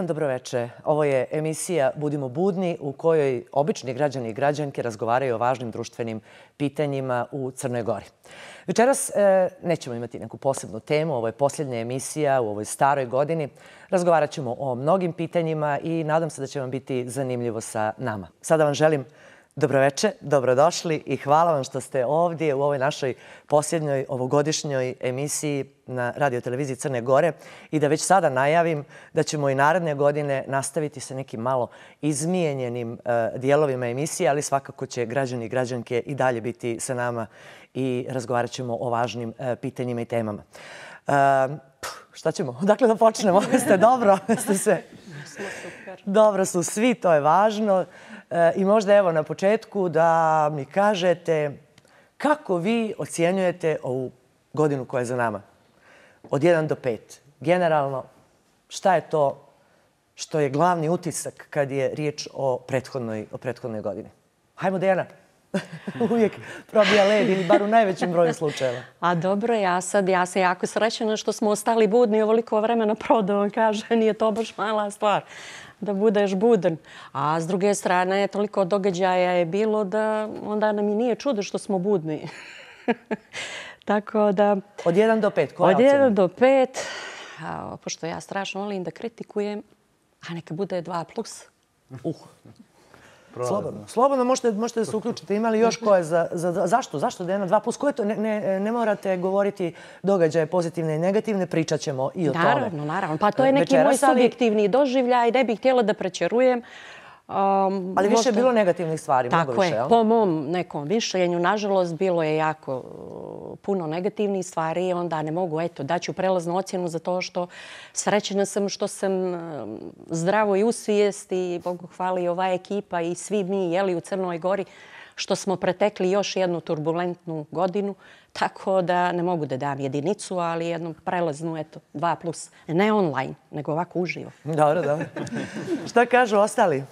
dan, dobroveče. Ovo je emisija Budimo budni u kojoj obični građani i građanke razgovaraju o važnim društvenim pitanjima u Crnoj Gori. Večeras nećemo imati neku posebnu temu, ovo je posljednja emisija u ovoj staroj godini. Razgovarat ćemo o mnogim pitanjima i nadam se da će vam biti zanimljivo sa nama. Sada vam želim dobroveče, dobrodošli i hvala vam što ste ovdje u ovoj našoj posljednjoj ovogodišnjoj emisiji na radioteleviziji Crne Gore i da već sada najavim da ćemo i naredne godine nastaviti sa nekim malo izmijenjenim dijelovima emisije, ali svakako će građani i građanke i dalje biti sa nama i razgovarat ćemo o važnim pitanjima i temama. Šta ćemo? Odakle da počnemo? Ste dobro? Ste sve? Dobro su svi, to je važno. I možda evo na početku da mi kažete kako vi ocjenjujete ovu godinu koja je za nama? Od 1 do 5. Generalno, šta je to što je glavni utisak kad je riječ o prethodnoj godini? Hajmo, Dejana. Uvijek probija led ili bar u najvećem broju slučajeva. A dobro, ja sam jako srećena što smo ostali budni ovoliko vremena prodao. Kaže, nije to baš mala stvar da budeš budan. A s druge strane, toliko događaja je bilo da onda nam i nije čudo što smo budni. Tako da... Od 1 do 5, koja ocjena? Od 1 do 5, pošto ja strašno volim da kritikujem, a neka bude 2+. Slobodno možete da se uključite. Ima li još ko je zašto? Zašto da je na 2+? Ko je to? Ne morate govoriti događaje pozitivne i negativne, pričat ćemo i o tome. Naravno. Pa to je neki moj subjektivni doživljaj, ne bih htjela da prećerujem. Ali više je bilo negativnih stvari. Tako je, po mom nekom mišljenju. Nažalost, bilo je jako puno negativnih stvari i onda ne mogu, daću prelaznu ocjenu za to što srećena sam što sam zdravo i u svijesti, Bogu hvala i ova ekipa i svi mi u Crnoj Gori, što smo pretekli još jednu turbulentnu godinu, tako da ne mogu da dam jedinicu, ali jednu prelaznu, 2+. Ne online, nego ovako uživo. Dobro. Šta kažu ostali?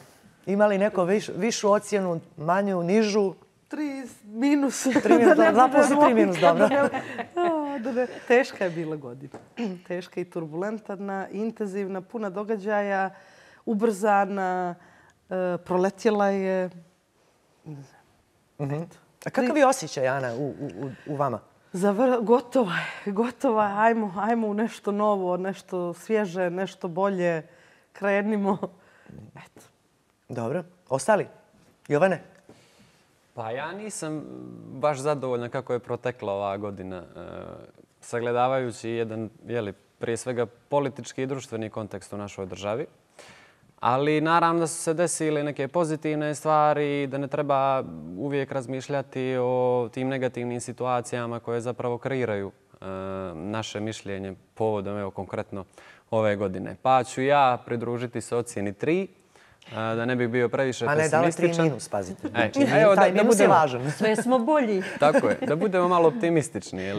Ima li neko višu ocjenu, manju, nižu? 3 minus. 3 minus, 2+ i 3 minus, dobro. Teška je bila godina. Teška i turbulentna, intenzivna, puna događaja, ubrzana, proletjela je. A kakav je osjećaj, Ana, u vama? Gotova. Ajmo u nešto novo, nešto svježe, nešto bolje. Krenimo. Eto. Dobro. Ostali? Jovane? Pa ja nisam baš zadovoljna kako je protekla ova godina. Sagledavajući jedan, prije svega politički i društveni kontekst u našoj državi. Ali naravno da su se desile neke pozitivne stvari, da ne treba uvijek razmišljati o tim negativnim situacijama koje zapravo kreiraju naše mišljenje povodom, konkretno ove godine. Pa ću ja pridružiti se ocjeni 3, da ne bih bio previše pesimističan. A ne, dali 3 minus, pazite. Taj minus je važan. Sve smo bolji. Tako je, da budemo malo optimistični,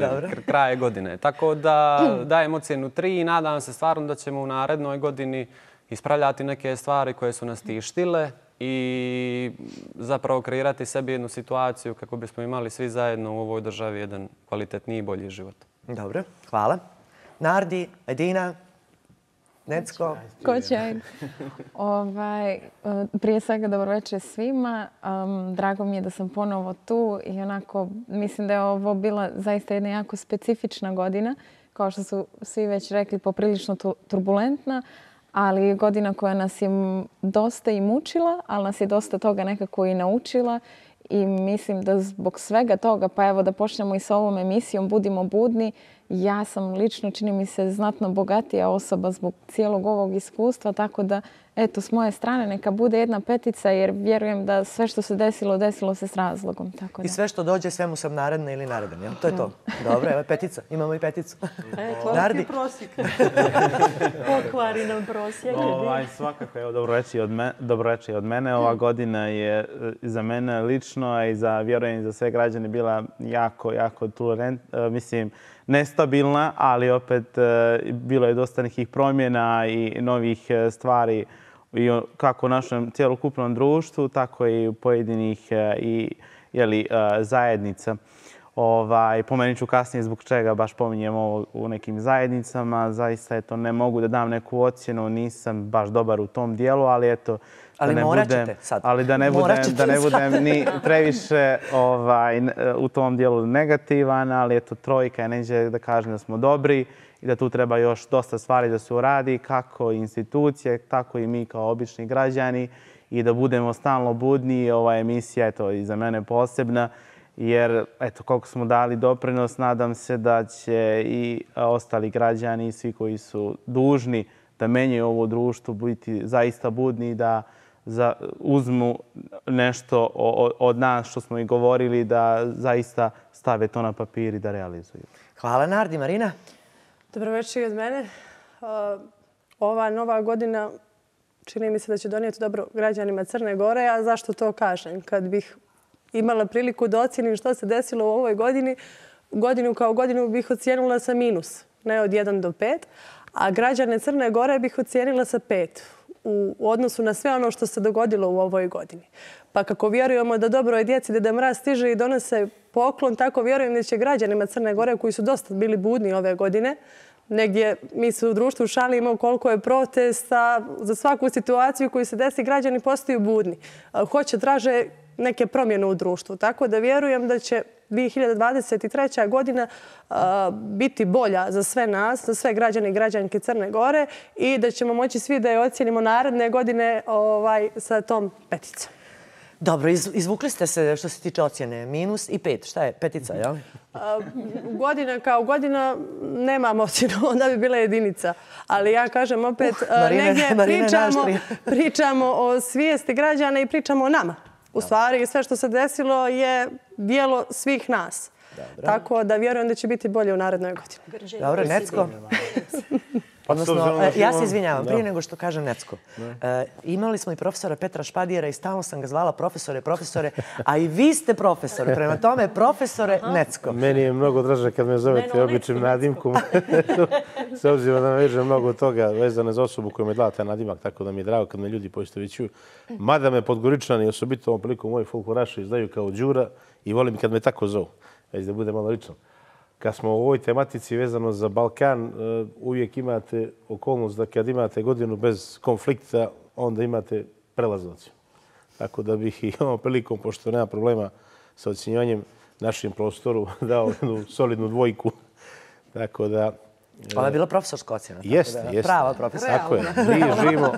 kraje godine. Tako da dajem ocjenu 3 i nadam se stvarno da ćemo u narednoj godini ispravljati neke stvari koje su nas tištile i zapravo kreirati sebi jednu situaciju kako bismo imali svi zajedno u ovoj državi jedan kvalitetniji i bolji život. Dobro, hvala. Nardi, Edina, Necko. Koćaj. Prije svega dobroveče svima. Drago mi je da sam ponovo tu i onako mislim da je ovo bila zaista jedna jako specifična godina. Kao što su svi već rekli, poprilično turbulentna, ali godina koja nas je dosta i mučila, ali nas je dosta toga nekako i naučila i mislim da zbog svega toga, pa evo da počnemo i sa ovom emisijom Budimo budni, ja sam lično, čini mi se, znatno bogatija osoba zbog cijelog ovog iskustva, tako da, eto, s moje strane neka bude 1 petica, jer vjerujem da sve što se desilo, desilo se s razlogom. Tako da. I sve što dođe, svemu sam naredna ili naredan, jel? To je to. Dobro, evo je petica. Imamo i peticu. Koliki prosjek? Pokvari nam prosjek. Svakako, evo, dobroveče od mene. Ova godina je za mene lično, a i za, vjerujem, za sve građane bila jako nestabilna, ali opet bilo je dosta nekih promjena i novih stvari kako u našem cjelokupnom društvu, tako i u pojedinih zajednica. Pomenut ću kasnije zbog čega baš pominjem ovo u nekim zajednicama. Zaista ne mogu da dam neku ocjenu, nisam baš dobar u tom dijelu, ali eto, ali morat ćete sad. Ali da ne budem ni previše u tom dijelu negativan, ali eto, trojka neće da kažem da smo dobri i da tu treba još dosta stvari da se uradi, kako institucije, tako i mi kao obični građani i da budemo stalno budni. Ova emisija je i za mene posebna, jer eto, koliko smo dali doprinos, nadam se da će i ostali građani i svi koji su dužni da menjaju ovo društvo biti zaista budni, da uzmu nešto od nas što smo i govorili, da zaista stave to na papir i da realizuju. Hvala, Nardi. Marina? Dobro večer i od mene. Ova nova godina čini mi se da će donijeti dobro građanima Crne Gore, a zašto to kažem? Kad bih imala priliku da ocijenim što se desilo u ovoj godini, godinu kao godinu bih ocijenila sa minus, ne od 1 do 5, a građane Crne Gore bih ocijenila sa 5 u odnosu na sve ono što se dogodilo u ovoj godini. Pa kako vjerujemo da dobroj djeci Deda Mraz stiže i donose poklon, tako vjerujem da će građanima Crne Gore, koji su dosta bili budni ove godine, negdje mi se u društvu šalimo koliko je protesta, za svaku situaciju koju se desi građani postaju budni. Hoće, traže neke promjene u društvu. Tako da vjerujem da će 2023. godina biti bolja za sve nas, za sve građane i građanke Crne Gore i da ćemo moći svi da je ocijenimo naredne godine sa tom 5. Dobro, izvukli ste se što se tiče ocjene. Minus i 5. Šta je? 5, jel? Godina kao godina nemam ocjenu, onda bi bila 1. Ali ja kažem opet, negdje pričamo o svijesti građana i pričamo o nama. U stvari, sve što se desilo je dijelo svih nas. Tako da vjerujem da će biti bolje u narednoj godini. Dobro, Necko. Odnosno, ja se izvinjavam, prije nego što kažem Necko. Imali smo i profesora Petra Špadijera i stalno sam ga zvala profesore, a i vi ste profesor. Prema tome, profesore Necko. Meni je mnogo draže kad me zovete običnim nadimkom. S obzirom da me veže mnogo toga vezane za osobu koju me dala taj nadimak, tako da mi je drago kad me ljudi poistovećuju. Mada me Podgoričani, osobito ovom prilikom moji folkloraši, znaju kao Đura i volim kad me tako zovu. Već da bude malo lično. Kad smo u ovoj tematici vezano za Balkan, uvijek imate okolnost da kad imate godinu bez konflikta, onda imate prelaznu ocjenu. Tako da bih i ovom prilikom, pošto nema problema sa ocjenjivanjem našem prostoru, dao jednu solidnu 2. Tako da... Ona je bila profesorska ocjena. Jeste. Prava profesorska. Tako je. Mi živimo...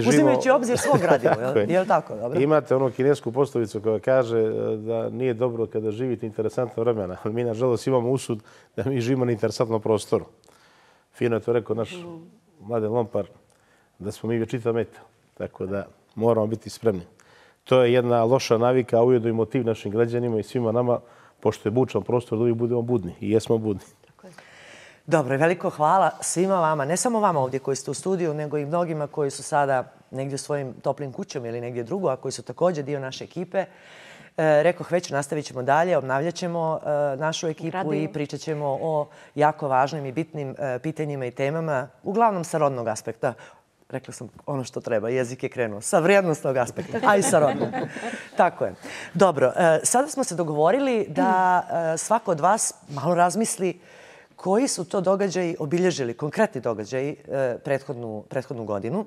Uzimajući obzir svog gradiva, je li tako? Imate onu kinesku poslovicu koja kaže da nije dobro kada živite interesantno vremena. Mi, nažalost, imamo usud da mi živimo na interesantnom prostoru. Fino je to rekao naš Mladen Lompar, da smo mi vječita meta. Tako da moramo biti spremni. To je jedna loša navika, a ujedno i motiv našim građanima i svima nama, pošto je bučan prostor, da uvijek budemo budni. I jesmo budni. Dobro, veliko hvala svima vama, ne samo vama ovdje koji ste u studiju, nego i mnogima koji su sada negdje u svojim toplim kućama ili negdje drugo, a koji su također dio naše ekipe. Rekoh već, nastavit ćemo dalje, obnavljat ćemo našu ekipu i pričat ćemo o jako važnim i bitnim pitanjima i temama, uglavnom sa rodnog aspekta. Rekla sam ono što treba, jezik je krenuo. Sa vrijednostnog aspekta, a i sa rodnog. Tako je. Dobro, sada smo se dogovorili da svako od vas malo razmisli koji su to događaji obilježili, konkretni događaji prethodnu godinu.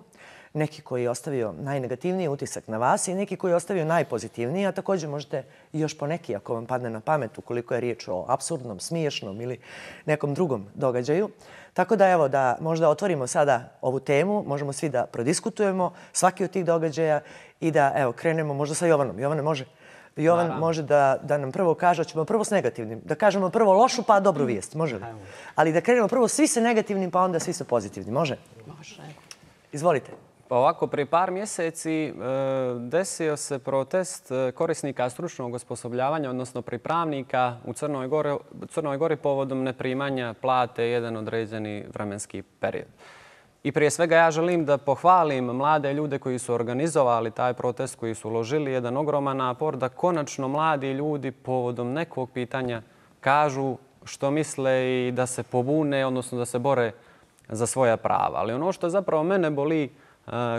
Neki koji je ostavio najnegativniji utisak na vas i neki koji je ostavio najpozitivniji, a također možete i još poneki ako vam padne na pamet ukoliko je riječ o apsurdnom, smiješnom ili nekom drugom događaju. Tako da evo da možda otvorimo sada ovu temu, možemo svi da prodiskutujemo svaki od tih događaja i da evo krenemo možda sa Jovanom. Jovane, može? Jovan može da nam prvo kaže, ćemo prvo s negativnim. Da kažemo prvo lošu pa dobru vijest, može li? Ali da krenemo prvo svi sa negativnim pa onda svi sa pozitivnim, može? Može. Izvolite. Pa ovako, prije par mjeseci desio se protest korisnika stručnog osposobljavanja, odnosno pripravnika u Crnoj Gori povodom neprimanja plate jedan određeni vremenski period. I prije svega ja želim da pohvalim mlade ljude koji su organizovali taj protest, koji su uložili jedan ogroman napor da konačno mladi ljudi povodom nekog pitanja kažu što misle i da se pobune, odnosno da se bore za svoja prava. Ali ono što zapravo mene boli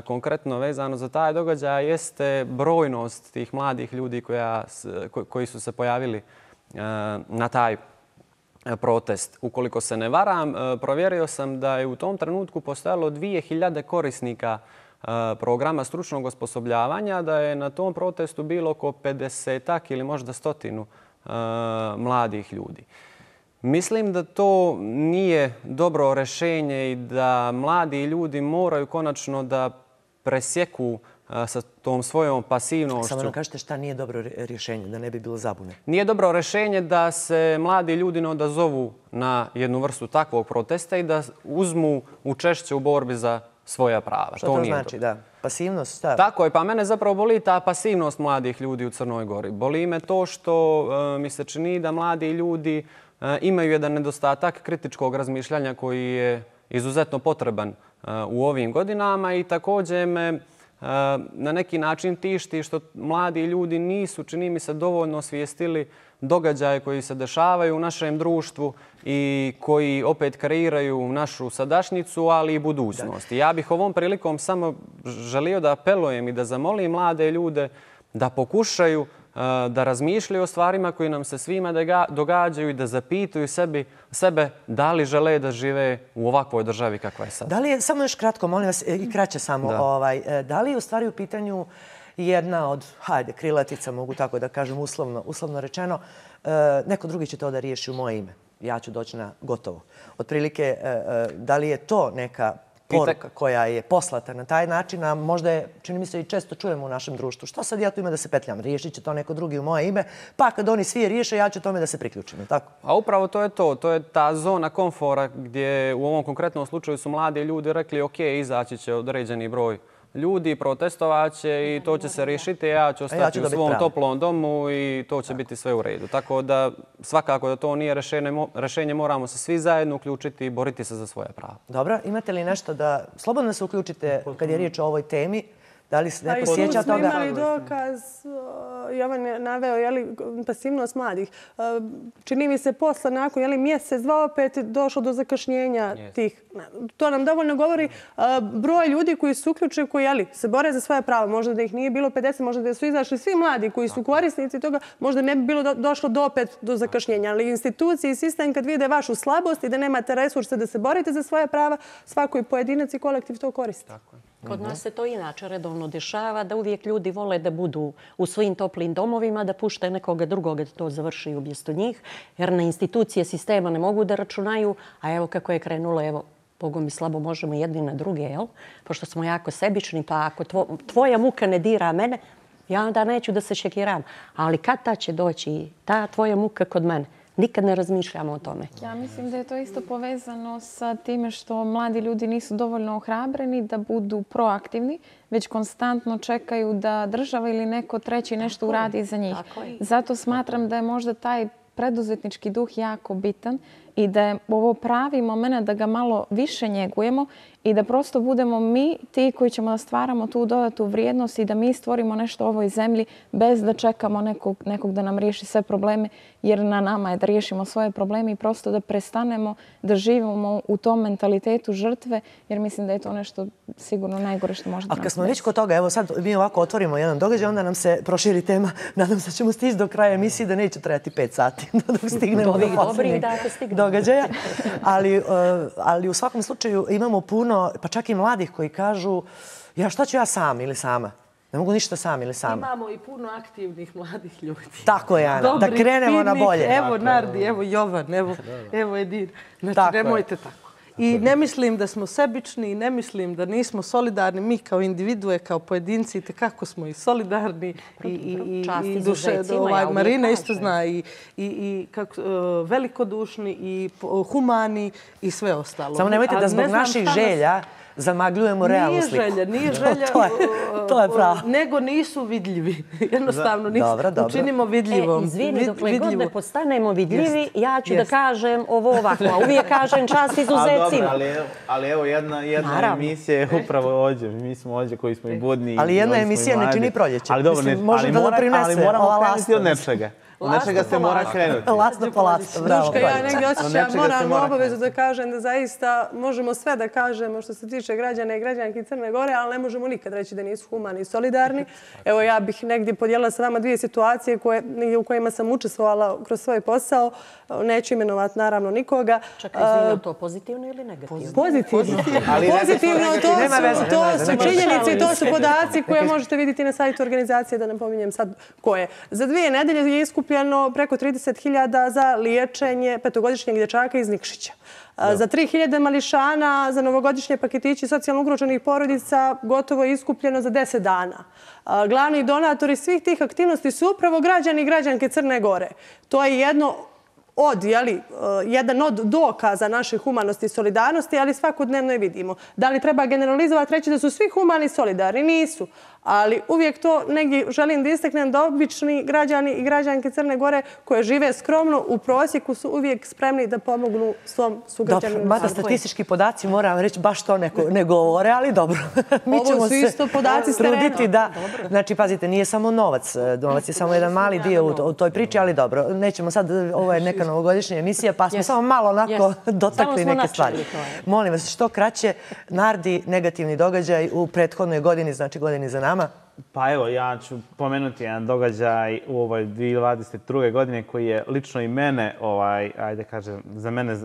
konkretno vezano za taj događaj jeste brojnost tih mladih ljudi koji su se pojavili na taj protest. Ukoliko se ne varam, provjerio sam da je u tom trenutku postojalo 2000 korisnika programa stručnog osposobljavanja, da je na tom protestu bilo oko 50-ak ili možda 100 mladih ljudi. Mislim da to nije dobro rješenje i da mladi ljudi moraju konačno da presjeku sa tom svojom pasivnošću. Samo nam kažete šta nije dobro rješenje, da ne bi bilo zabune. Nije dobro rješenje da se mladi ljudi ne odazovu na jednu vrstu takvog protesta i da uzmu učešće u borbi za svoja prava. Što to znači, da? Pasivnost, šta? Tako je, pa mene zapravo boli ta pasivnost mladih ljudi u Crnoj Gori. Boli me to što mi se čini da mladi ljudi imaju jedan nedostatak kritičkog razmišljanja koji je izuzetno potreban u ovim godinama i također me na neki način tišti što mladi ljudi nisu, čini mi se, dovoljno osvijestili događaje koji se dešavaju u našem društvu i koji opet kreiraju našu sadašnjicu, ali i budućnost. I ja bih ovom prilikom samo želio da apelujem i da zamolim mlade ljude da pokušaju da razmišljaju o stvarima koji nam se svima događaju i da zapitaju sebe da li žele da žive u ovakvoj državi kakva je sad. Da li je, samo još kratko, molim vas, i kraće samo, da li je u stvari u pitanju jedna od, krilatica, mogu tako da kažem, uslovno rečeno, neko drugi će to da riješi u moje ime. Ja ću doći na gotovo. Otprilike, da li je to neka poruka koja je poslata na taj način, a možda je, čini mi se, i često čujemo u našem društvu. Što sad ja tu ima da se petljam? Riješit će to neko drugi u moje ime, pa kad oni svi riješe, ja ću tome da se priključim. Tako? A upravo to je to. To je ta zona komfora gdje u ovom konkretnom slučaju su mladi ljudi rekli ok, izaći će određeni broj ljudi, protestovaće i to će se riješiti. Ja ću ostati u svom toplom domu i to će biti sve u redu. Tako da svakako da to nije rješenje, moramo se svi zajedno uključiti i boriti se za svoja prava. Dobro, imate li nešto da slobodno se uključite kad je riječ o ovoj temi? Da li se neko sjeća toga? Smo imali dokaz, Jovan je naveo, pasivnost mladih. Čini mi se posle, nakon mjesec, dva opet došlo do zakašnjenja tih. To nam dovoljno govori broj ljudi koji su uključeni, koji se bore za svoje prava. Možda da ih nije bilo 50, možda da su izašli svi mladi koji su korisnici toga, možda ne bi bilo došlo opet do zakašnjenja. Ali institucije i sistem kad vide vašu slabost i da nemate resurse da se borite za svoje prava, svako i pojedinac i kolektiv to koristi. Kod nas se to inače redovno dešava, da uvijek ljudi vole da budu u svojim toplim domovima, da pušte nekoga drugoga da to završi umjesto njih, jer na institucije sistema ne mogu da računaju, a evo kako je krenulo, evo, Bogom mi slabo možemo jedni na druge, jel? Pošto smo jako sebični, pa ako tvoja muka ne dira mene, ja onda neću da se šekiram. Ali kad ta će doći ta tvoja muka kod mene? Nikad ne razmišljamo o tome. Ja mislim da je to isto povezano sa time što mladi ljudi nisu dovoljno ohrabreni da budu proaktivni, već konstantno čekaju da država ili neko treći nešto uradi za njih. Zato smatram da je možda taj preduzetnički duh jako bitan i da je ovo pravi moment da ga malo više njegujemo i da prosto budemo mi ti koji ćemo da stvaramo tu dodatu vrijednost i da mi stvorimo nešto u ovoj zemlji bez da čekamo nekog da nam riješi sve probleme, jer na nama je da riješimo svoje probleme i prosto da prestanemo da živimo u tom mentalitetu žrtve, jer mislim da je to nešto sigurno najgore što može da nam. A kad smo već kod toga, evo sad mi ovako otvorimo jedan događaj, onda nam se proširi tema. Nadam se da ćemo stići do kraja emisije, da neće trajati 5 sati dok stignemo do posljednjeg događaja. Ali u svakom slučaju imamo puno, pa čak i mladih koji kažu šta ću ja sam ili sama? Ne mogu ništa sam ili sama. Imamo i puno aktivnih mladih ljudi. Tako je, Ana. Da krenemo na bolje. Evo Nardi, evo Jovan, evo Edin. Znači, nemojte tako. I ne mislim da smo sebični, ne mislim da nismo solidarni. Mi kao individue, kao pojedinci, kako smo i solidarni. I duše, Marina isto zna, i velikodušni, i humani, i sve ostalo. Samo nemojte da zbog naših želja zamagljujemo realnu sliku. Nije želja, to je pravo. Nego nisu vidljivi. Jednostavno, učinimo vidljivom. Izvini, dokle god ne postanemo vidljivi, ja ću da kažem ovo ovako. A uvijek kažem čast izuzecima. Ali evo, jedna emisija je upravo ovdje. Mi smo ovdje koji smo i budni. Ali jedna emisija ne čini proljeće. Ali dobro, ali moramo krenuti od nečega. Od nečega se mora krenuti. Lasno po lasno, bravo. Ja negdje osjećam moralnu obavezu da kažem da zaista možemo sve da kažemo što se tiče građana i građanki Crne Gore, ali ne možemo nikad reći da nisu humani i solidarni. Evo, ja bih negdje podijelila sa vama dvije situacije u kojima sam učestvovala kroz svoj posao. Neću imenovati naravno nikoga. Čekaj, izvino, to pozitivno ili negativno? Pozitivno. Pozitivno, to su činjenice i to su podaci koje možete vidjeti na sajtu organizacije, da ne pominjem sad koje. Za 2 nedelje je iskupljeno preko 30.000 za liječenje petogodišnjeg dječaka iz Nikšića. Za 3.000 mališana, za novogodišnje paketići socijalno ugroženih porodica gotovo je iskupljeno za 10 dana. Glavni donatori svih tih aktivnosti su upravo građani i građanke Crne Gore. To je jedan od dokaza naše humanosti i solidarnosti, ali svakodnevno je vidimo. Da li treba generalizovati, reći da su svi humani i solidarni? Nisu. Ali uvijek to negdje želim da istaknem da obični građani i građanke Crne Gore koje žive skromno u prosjeku su uvijek spremni da pomognu svom sugrađaninu. Mada statistički podaci, moram reći, baš to ne govore, ali dobro. Ovo su isto podaci s terena. Znači, pazite, nije samo novac. Novac je samo jedan mali dio u toj priči, ali dobro. Nećemo sad, ovo je neka novogodišnja emisija, pa smo samo malo onako dotakli neke stvari. Molim vas, što kraće, Nardi, negativni događaj u prethodnoj godini, znači godini za nama? Pa evo, ja ću pomenuti jedan događaj u ovoj 2022. godine koji je lično i mene, ajde kažem, za mene,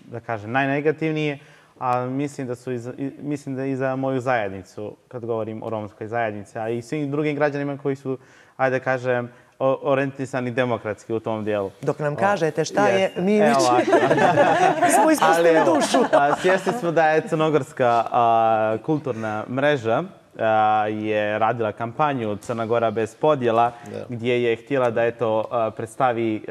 da kažem, najnegativnije, a mislim da i za moju zajednicu, kad govorim o romskoj zajednici, a i svim drugim građanima koji su, ajde kažem, orijentisani demokratski u tom dijelu. Dok nam kažete šta je, mi već smo ispustili dušu. Svjesni smo da je Crnogorska kulturna mreža je radila kampanju Crna Gora bez podjela, gdje je htjela da predstavi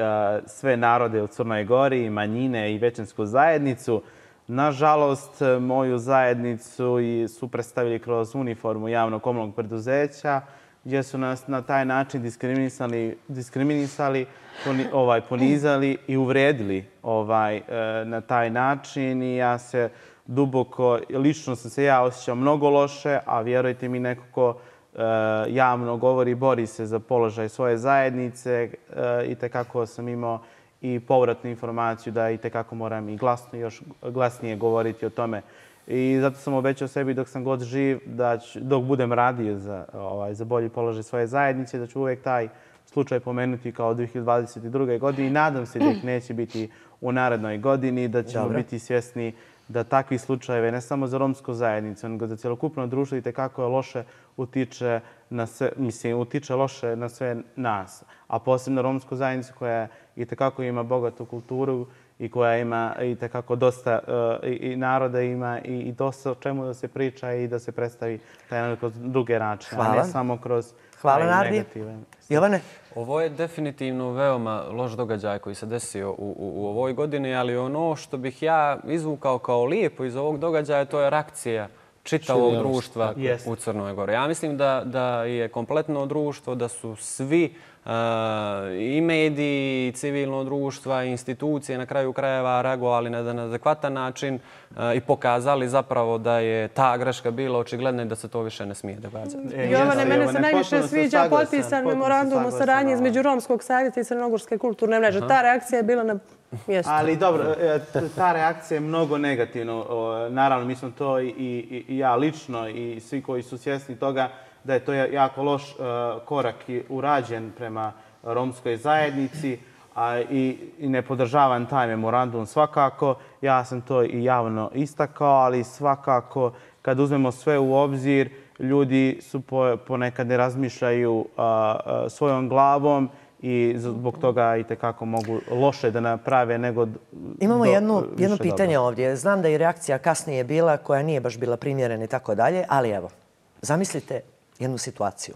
sve narode u Crnoj Gori, manjine i većinsku zajednicu. Nažalost, moju zajednicu su predstavili kroz uniformu javnog komunalnog preduzeća, gdje su nas na taj način diskriminisali, ponizali i uvredili na taj način. I ja se duboko, lično sam se ja osjećao mnogo loše, a vjerujte mi, neko ko javno govori i bori se za položaj svoje zajednice, i tekako sam imao i povratnu informaciju da i tekako moram i još glasnije govoriti o tome. I zato sam obećao sebi dok sam god živ, dok budem radio za bolji položaj svoje zajednice, da ću uvijek taj slučaj pomenuti kao 2022. godini. I nadam se da ih neće biti u narednoj godini, da ćemo biti svjesni da takvi slučajeve, ne samo za romsku zajednicu, nego za cjelokupno društvo, i tekako je loše utiče loše na sve nas. A posebno romsku zajednicu koja i tekako ima bogatu kulturu i koja ima i tekako dosta i naroda ima i dosta o čemu da se priča i da se predstavi taj narod kroz druge načine, a ne samo kroz taj negativan. Jovane? Ovo je definitivno veoma loš događaj koji se desio u ovoj godini, ali ono što bih ja izvukao kao lijepo iz ovog događaja, to je reakcija čitavog društva u Crnoj Gori. Ja mislim da je kompletno društvo, da su svi i mediji, i civilno društva, i institucije na kraju krajeva reagovali na jedan adekvatan način i pokazali zapravo da je ta greška bila očigledna i da se to više ne smije događati. Jovane, mene se najviše sviđa potpisan memorandum o saradnji između Romskog savjeta i Crnogorske kulturne mreže. Ta reakcija je bila na mjestu. Ali dobro, ta reakcija je mnogo negativna. Naravno, mi smo to i ja lično i svi koji su svjesni toga da je to jako loš korak urađen prema romskoj zajednici i ne podržavam taj memorandum svakako. Ja sam to i javno istakao, ali svakako kad uzmemo sve u obzir, ljudi su ponekad ne razmišljaju svojom glavom i zbog toga i tekako mogu loše da naprave nego Imamo jedno pitanje ovdje. Znam da je reakcija kasnije bila koja nije baš bila primjerena i tako dalje, ali evo, zamislite jednu situaciju.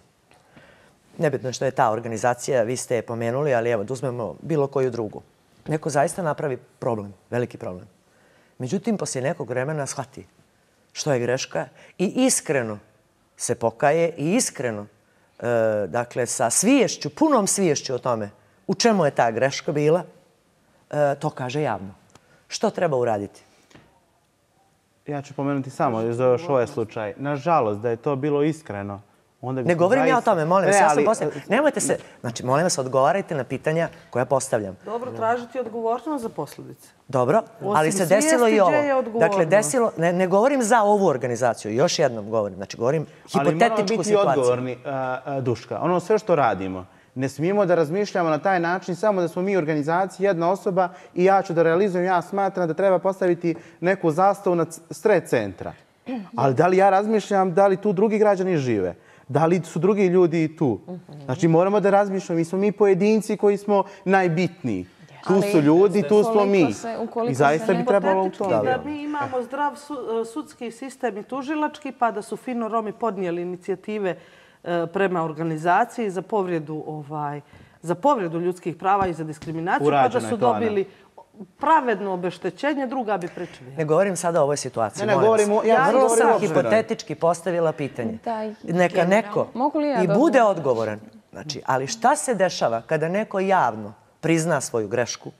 Nebitno što je ta organizacija, vi ste je pomenuli, ali evo, da uzmemo bilo koju drugu. Neko zaista napravi problem, veliki problem. Međutim, poslije nekog vremena shvati što je greška i iskreno se pokaje i iskreno, dakle, sa sviješću, punom sviješću o tome u čemu je ta greška bila, to kaže javno. Što treba uraditi? Ja ću pomenuti samo za još ovaj slučaj. Nažalost, da je to bilo iskreno, Ne govorim ja o tome, molim vas, ja sam postavljam. Nemojte se, znači, molim vas, odgovarajte na pitanja koja postavljam. Dobro, tražiti odgovornost za posljedice. Dobro, ali se desilo i ovo. Dakle, desilo, ne govorim za ovu organizaciju, još jednom govorim, znači govorim hipotetičku situaciju. Ali moramo biti odgovorni, Duška. Ono sve što radimo, ne smijemo da razmišljamo na taj način samo da smo mi organizacija, jedna osoba i ja ću da realizujem, ja smatram da treba postaviti neku zastavu na sred centra. Ali da li ja razmišljam, da li tu drugi građani žive? Da li su drugi ljudi tu? Znači moramo da razmišljamo, mi smo mi pojedinci koji smo najbitniji. Tu su ljudi, tu smo mi. I zaista bi trebalo u to. Da mi imamo zdrav sudski sistem i tužilački, pa da su fino Romi podnijeli inicijative prema organizaciji za povredu ljudskih prava i za diskriminaciju, pa da su dobili pravedno obeštećenje, druga bi pričali. Ne govorim sada o ovoj situaciji. Ja vrlo sam hipotetički postavila pitanje. Neka neko i bude odgovoran. Ali šta se dešava kada neko javno prizna svoju grešku,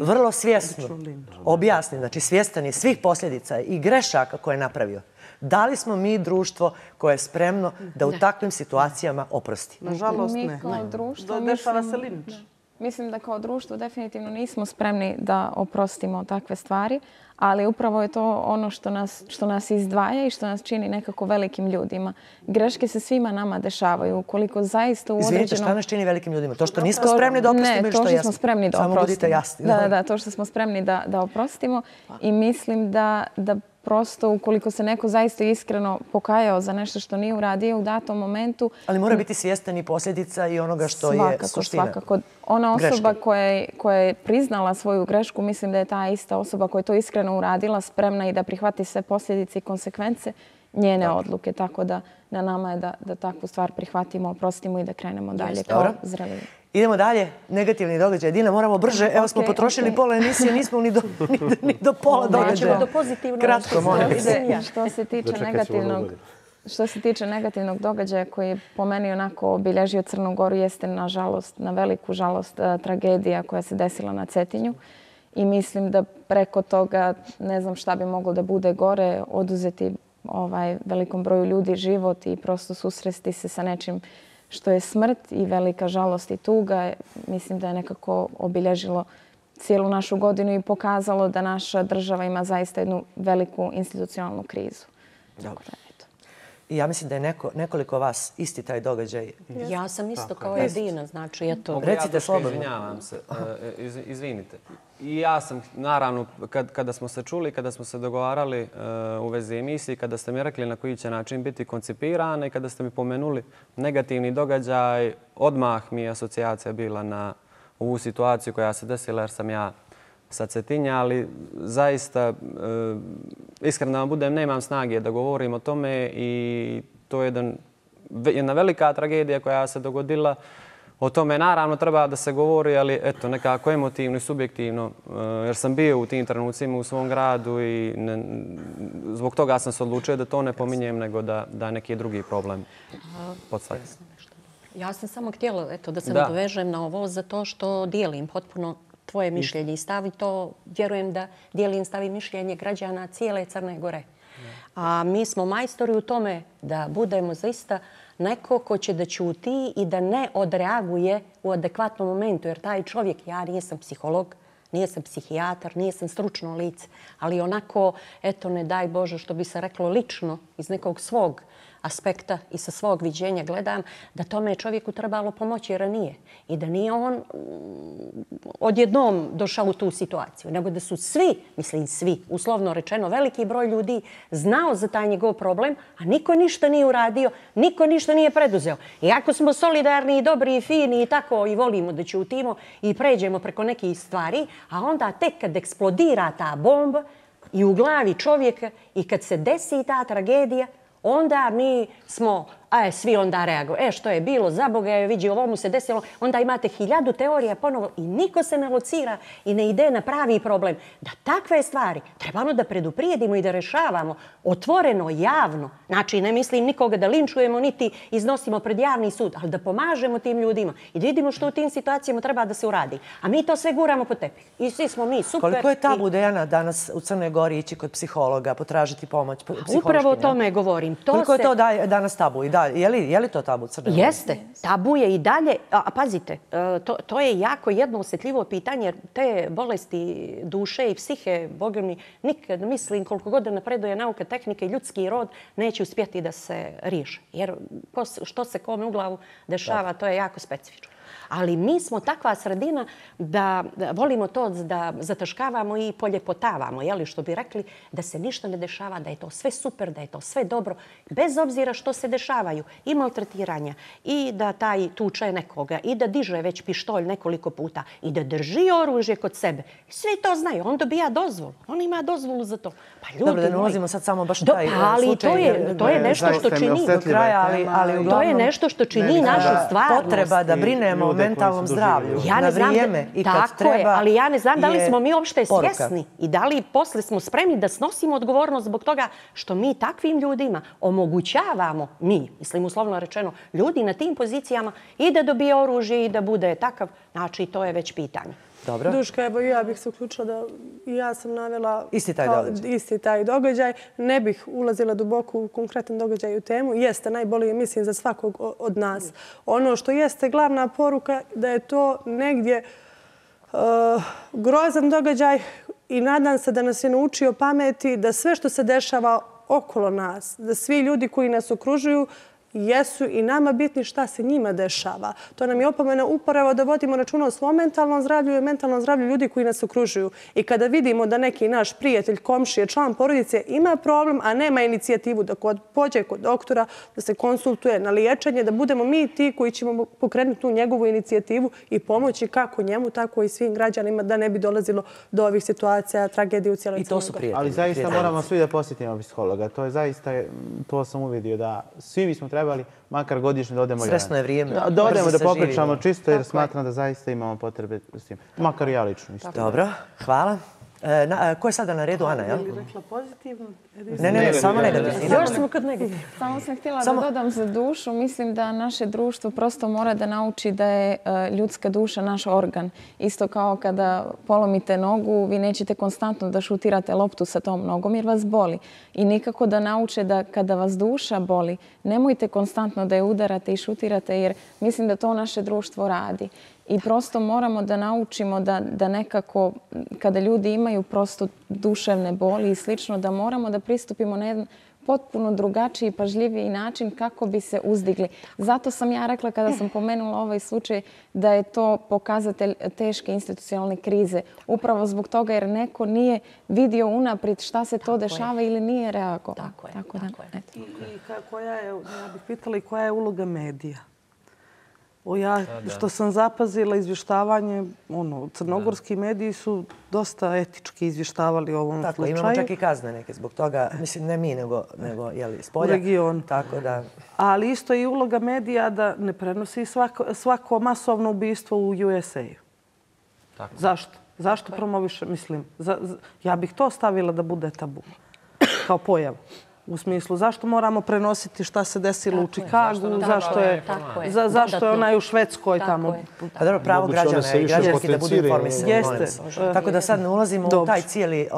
vrlo svjesno objasni, znači svjestan je svih posljedica i grešaka koje je napravio? Da li smo mi društvo koje je spremno da u takvim situacijama oprosti? Nažalost ne. Mi kao društvo dešava se linč. Mislim da kao društvo definitivno nismo spremni da oprostimo takve stvari, ali upravo je to ono što nas izdvaja i što nas čini nekako velikim ljudima. Greške se svima nama dešavaju. Ukoliko zaista u određenom... Izvinite, šta nas čini velikim ljudima? To što nismo spremni da oprostimo ili što je jasno? Ne, to što smo spremni da oprostimo. Samo budite jasni. Da, to što smo spremni da oprostimo i mislim da prosto ukoliko se neko zaista iskreno pokajao za nešto što nije uradio u datom momentu... Ali mora biti svjestan i posljedica i onoga što je suština. Svakako. Ona osoba koja je priznala svoju grešku, mislim da je ta ista osoba koja je to iskreno uradila, spremna i da prihvati sve posljedice i konsekvence njene odluke. Tako da na nama je da takvu stvar prihvatimo, oprostimo i da krenemo dalje kao zreli. Idemo dalje. Negativni događaj. Dina, moramo brže. Evo smo potrošili pola emisije, nismo ni do pola događaja. Kratko, molim. Što se tiče negativnog događaja koji je po meni onako obilježio Crnu Goru, jeste nažalost, na veliku žalost, tragedija koja se desila na Cetinju. I mislim da preko toga ne znam šta bi moglo da bude gore, oduzeti velikom broju ljudi život i prosto susresti se sa nečim što je smrt i velika žalost i tuga. Mislim da je nekako obilježilo cijelu našu godinu i pokazalo da naša država ima zaista jednu veliku institucionalnu krizu. Dobro. I ja mislim da je nekoliko vas isti taj događaj. Ja sam isto kao Edina, znači eto. Recite slobodno. Izvinjavam se, izvinite. I ja sam, naravno, kada smo se čuli, kada smo se dogovarali u vezi emisiji, kada ste mi rekli na koji će način biti koncipirana i kada ste mi pomenuli negativni događaj, odmah mi je asocijacija bila na ovu situaciju koja se desila jer sam ja sa Cetinja, ali zaista, iskreno da vam budem, nemam snage da govorim o tome i to je jedna velika tragedija koja se dogodila. O tome naravno treba da se govori, ali eto, nekako emotivno i subjektivno, jer sam bio u tim trenucima u svom gradu i zbog toga sam se odlučio da to ne pominjem, nego da neki drugi problem podstavim. Ja sam samo htjela da se nadovežem na ovo zato što dijelim potpuno tvoje mišljenje i stav i to vjerujem da dijelim stav i mišljenje građana cijele Crne Gore. A mi smo majstori u tome da budemo zaista neko ko će da ćuti i da ne odreaguje u adekvatnom momentu. Jer taj čovjek, ja nisam psiholog, nisam psihijatar, nisam stručno lice, ali onako, eto, ne daj Bože, što bi se reklo lično, iz nekog svog aspekta i sa svog viđenja gledam, da tome je čovjeku trebalo pomoći ranije i da nije on odjednom došao u tu situaciju, nego da su svi, mislim svi, uslovno rečeno, veliki broj ljudi znao za taj njegov problem, a niko ništa nije uradio, niko ništa nije preduzeo. I ako smo solidarni i dobri i fini i tako i volimo da ćutimo i pređemo preko nekih stvari, a onda tek kad eksplodira ta bomba i u glavi čovjeka i kad se desi ta tragedija, onda mi smo, svi onda reaguju. Što je bilo, za Boga je vidi, ovo mu se desilo. Onda imate 1000 teorija ponovo i niko se ne locira i ne ide na pravi problem. Da takve stvari trebamo da preduprijedimo i da rešavamo otvoreno, javno. Znači, ne mislim nikoga da linčujemo, niti iznosimo pred javni sud, ali da pomažemo tim ljudima i da vidimo što u tim situacijama treba da se uradi. A mi to sve guramo po tepih. I svi smo mi super. Koliko je tabu, Dejana, danas u Crnoj Gori ići kod psihologa, potražiti pomoć? Upravo o tome govorim. Koliko je to danas tabu? I dalje. Je li to tabu Crne Gore? Jeste. Tabu je i dalje. A pazite, to je jako jedno osjetljivo pitanje jer te bolesti duše i psihe, Boga mi, nikad mislim koliko god da napreduje nauka, tehnike i ljudski rod neće uspjeti da se riješe. Jer što se kome u glavu dešava, to je jako specifično. Ali mi smo takva sredina da volimo to da zataškavamo i poljepotavamo, što bi rekli, da se ništa ne dešava, da je to sve super, da je to sve dobro, bez obzira što se dešavaju. I maltretiranja, i da taj tuče nekoga, i da diže već pištolj nekoliko puta, i da drži oružje kod sebe. Svi to znaju, on dobija dozvolu, on ima dozvolu za to. Pa ljudi, dobro, da ne ulazimo sad samo baš u taj slučaj. Ali to je nešto što čini do kraja, ali uglavnom to je nešto što čini našu stvarnost. Potreba da brinemo o mentalnom zdravlju na vrijeme i kad treba. Tako je, ali ja ne znam da li smo mi uopšte svjesni i da li posle smo spremni da snosimo odgovornost zbog toga što mi takvim ljudima omogućavamo, mislim uslovno rečeno, ljudi na tim pozicijama i da dobije oružje i da bude takav. Znači, to je već pitanje. Dobro. Duška, evo ja bih se uključila da i ja sam navela isti taj događaj. Ne bih ulazila duboko u konkretan događaj u temu. Jeste najbolije, mislim, za svakog od nas. Ono što jeste glavna poruka da je to negdje grozan događaj i nadam se da nas je naučio pameti da sve što se dešava okolo nas, da svi ljudi koji nas okružuju jesu i nama bitni šta se njima dešava. To nam je opomena upravo da vodimo računa o svom mentalnom zdravlju i mentalnom zdravlju ljudi koji nas okružuju. I kada vidimo da neki naš prijatelj, komšije, član porodice ima problem, a nema inicijativu da pođe kod doktora, da se konsultuje na liječenje, da budemo mi ti koji ćemo pokrenuti tu njegovu inicijativu i pomoći kako njemu, tako i svim građanima da ne bi dolazilo do ovih situacija, tragedije u cijeloj Crnoj Gori. Ali zaista moramo svi da posjetimo psihologa. To je zaista, to sam uvidio da svi bismo trebali makar godišnje da odemo Stresno je vrijeme. Da odemo da popričamo čisto jer smatram da zaista imamo potrebe s tim. Makar ja lično isto. Dobro, hvala. Ko je sada na redu? Ana, jel? Je li rekla pozitivno? Ne, samo negativno. Još smo kod negativno. Samo sam htjela da dodam za dušu. Mislim da naše društvo prosto mora da nauči da je ljudska duša naš organ. Isto kao kada polomite nogu, vi nećete konstantno da šutirate loptu sa tom nogom jer vas boli. I nikako da nauče da kada vas duša boli, nemojte konstantno da je udarate i šutirate jer mislim da to naše društvo radi. I prosto moramo da naučimo da nekako, kada ljudi imaju prosto duševne boli i slično, da moramo da pristupimo na jedan potpuno drugačiji, pažljiviji način kako bi se uzdigli. Zato sam ja rekla kada sam pomenula ovaj slučaj da je to pokazatelj teške institucionalne krize. Upravo zbog toga jer neko nije vidio unaprijed šta se to dešava ili nije reagovao. Tako je. Ja bih pitala i koja je uloga medija? Što sam zapazila izvještavanje, crnogorski mediji su dosta etički izvještavali o ovom slučaju. Imamo čak i kazne neke zbog toga, mislim ne mi nego spolja. U regionu. Tako da. Ali isto je i uloga medija da ne prenosi svako masovno ubistvo u USA-u. Zašto? Zašto promoviše, mislim, ja bih to stavila da bude tabu kao pojavu. U smislu, zašto moramo prenositi šta se desilo u Čikagu, zašto je onaj u Švedskoj tamo. A dobro, pravo građana i građanski da budu informisani. Tako da sad ne ulazimo u taj cijeli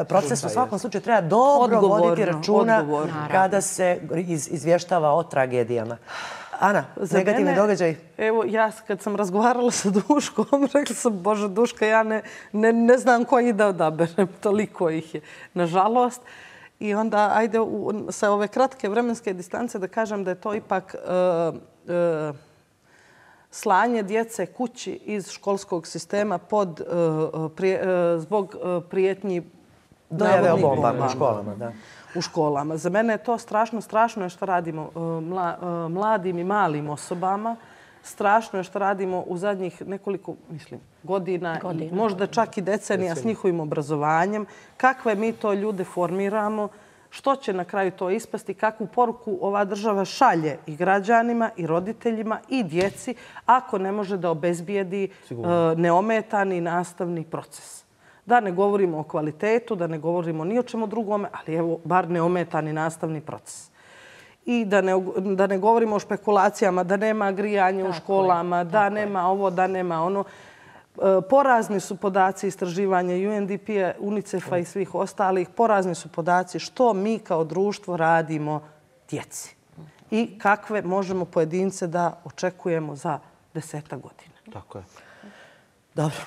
proces. U svakom slučaju treba dobro voditi računa kada se izvještava o tragedijama. Ana, negativni događaj? Evo, ja kad sam razgovarala sa Duškom, rekla sam, Bože, Duška, ja ne znam koji da odaberem, toliko ih je, nažalost. I onda, ajde, sa ove kratke vremenske distance da kažem da je to ipak slanje djece kući iz školskog sistema zbog prijetnji dojave o bombama u školama. Da. U školama. Za mene je to strašno je što radimo mladim i malim osobama. Strašno je što radimo u zadnjih nekoliko, godina, možda čak i decenija s njihovim obrazovanjem. Kakve mi to ljude formiramo, što će na kraju to ispasti, kakvu poruku ova država šalje i građanima, i roditeljima, i djeci, ako ne može da obezbijedi neometani nastavni proces. Da ne govorimo o kvalitetu, da ne govorimo ni o čemu drugome, ali evo, bar neometani nastavni proces. I da ne govorimo o špekulacijama, da nema grijanja u školama, da nema ovo, da nema ono. Porazni su podaci istraživanja UNDP-a, UNICEF-a i svih ostalih. Porazni su podaci što mi kao društvo radimo djeci. i kakve možemo pojedince da očekujemo za 10 godina. Tako je. Dobro.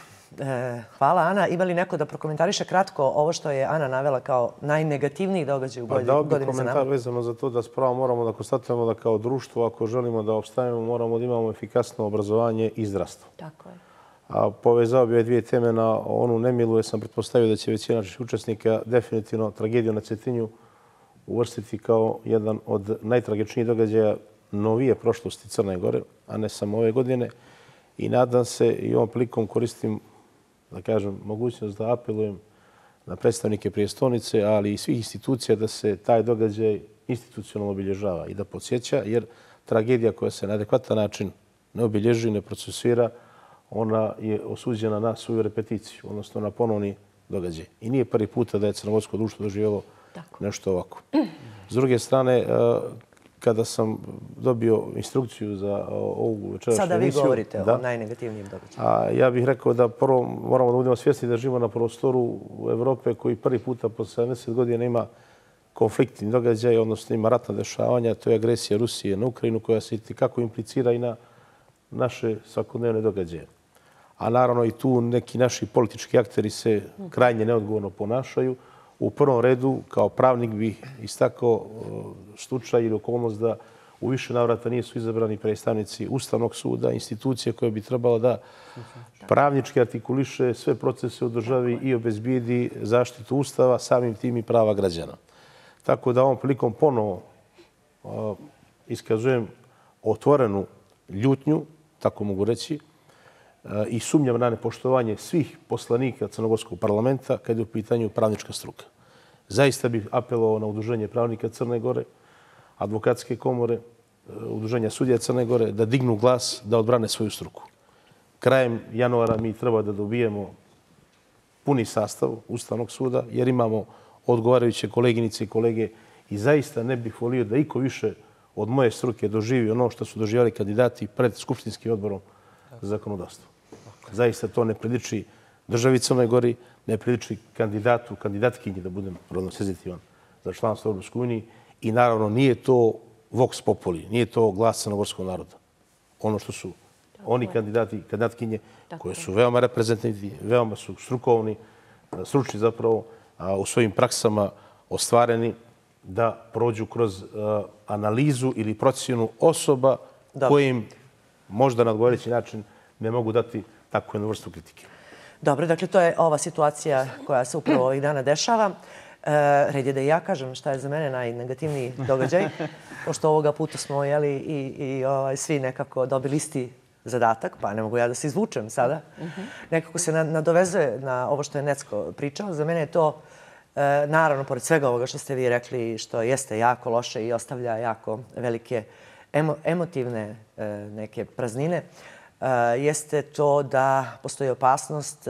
Hvala, Ana. Ima li neko da prokomentariše kratko ovo što je Ana navela kao najnegativniji događaj u godini za nama? Dao bih komentar vezano za to da spravo moramo da konstatujemo da kao društvo, ako želimo da opstanemo, moramo da imamo efikasno obrazovanje i zdravstvo. Tako je. A povezao bi ove dvije teme na onu nemilu, jer sam pretpostavio da će većina naših učesnika definitivno tragediju na Cetinju uvrstiti kao jedan od najtragičnijih događaja novije prošlosti Crne Gore, a ne samo ove godine. I nadam se i ovom prilikom koristim, da kažem, mogućnost da apelujem na predstavnike prijestolnice, ali i svih institucija da se taj događaj institucionalno obilježava i da podsjeća, jer tragedija koja se na adekvatan način ne obilježi, ne procesuira, ona je osuđena na svoju repeticiju, odnosno na ponovni događaj. I nije prvi puta da je crnogorsko društvo doživjelo nešto ovako. S druge strane, kada sam dobio instrukciju za ovu večerašnju emisiju... Sada vi govorite o najnegativnijim događajima. Ja bih rekao da prvo moramo da budemo svjesni da živimo na prostoru Evrope koji prvi puta po 70 godina ima konfliktni događaj, odnosno ima ratna dešavanja. To je agresija Rusije na Ukrajinu koja se kako implicira i na naše svakodnevne događaje. A naravno i tu neki naši politički akteri se krajnje neodgovorno ponašaju. U prvom redu, kao pravnik bih istakao slučaj ili okolnost da u više navrata nisu izabrani predstavnici Ustavnog suda, institucije koje bi trebalo da pravnički artikuliše sve procese u državi i obezbijedi zaštitu Ustava, samim tim i prava građana. Tako da ovom prilikom ponovo iskazujem otvorenu ljutnju, tako mogu reći, i sumnjam na nepoštovanje svih poslanika Crnogorskog parlamenta kad je u pitanju pravnička struka. Zaista bih apelovao na Udruženje pravnika Crne Gore, advokatske komore, Udruženja sudija Crne Gore, da dignu glas, da odbrane svoju struku. Krajem januara mi treba da dobijemo puni sastav Ustavnog suda, jer imamo odgovarajuće koleginice i kolege i zaista ne bih volio da iko više od moje struke doživi ono što su doživjeli kandidati pred Skupštinskim odborom za zakonodavstvo. Zaista to ne priliči državi Crnoj Gori, ne priliči kandidatu, kandidatkinji, da budem rodno senzitivan, za članstvo u Europskoj uniji. I naravno nije to vox populi, nije to glas crnogorskog naroda. Ono što su oni kandidati, kandidatkinje, koje su veoma reprezentativni, veoma su strukovni, stručni zapravo, u svojim praksama ostvareni da prođu kroz analizu ili procjenu osoba kojim možda na odgovarajući način ne mogu dati takvu jednu vrstu kritike. Dobro, dakle, to je ova situacija koja se upravo ovih dana dešava. Red je da i ja kažem šta je za mene najnegativniji događaj, pošto ovoga puta smo i svi nekako dobili isti zadatak, pa ne mogu ja da se izvučem sada. Nekako se nadovezuje na ovo što je Necko pričao. Za mene je to, naravno, pored svega ovoga što ste vi rekli, što jeste jako loše i ostavlja jako velike emotivne neke praznine, jeste to da postoji opasnost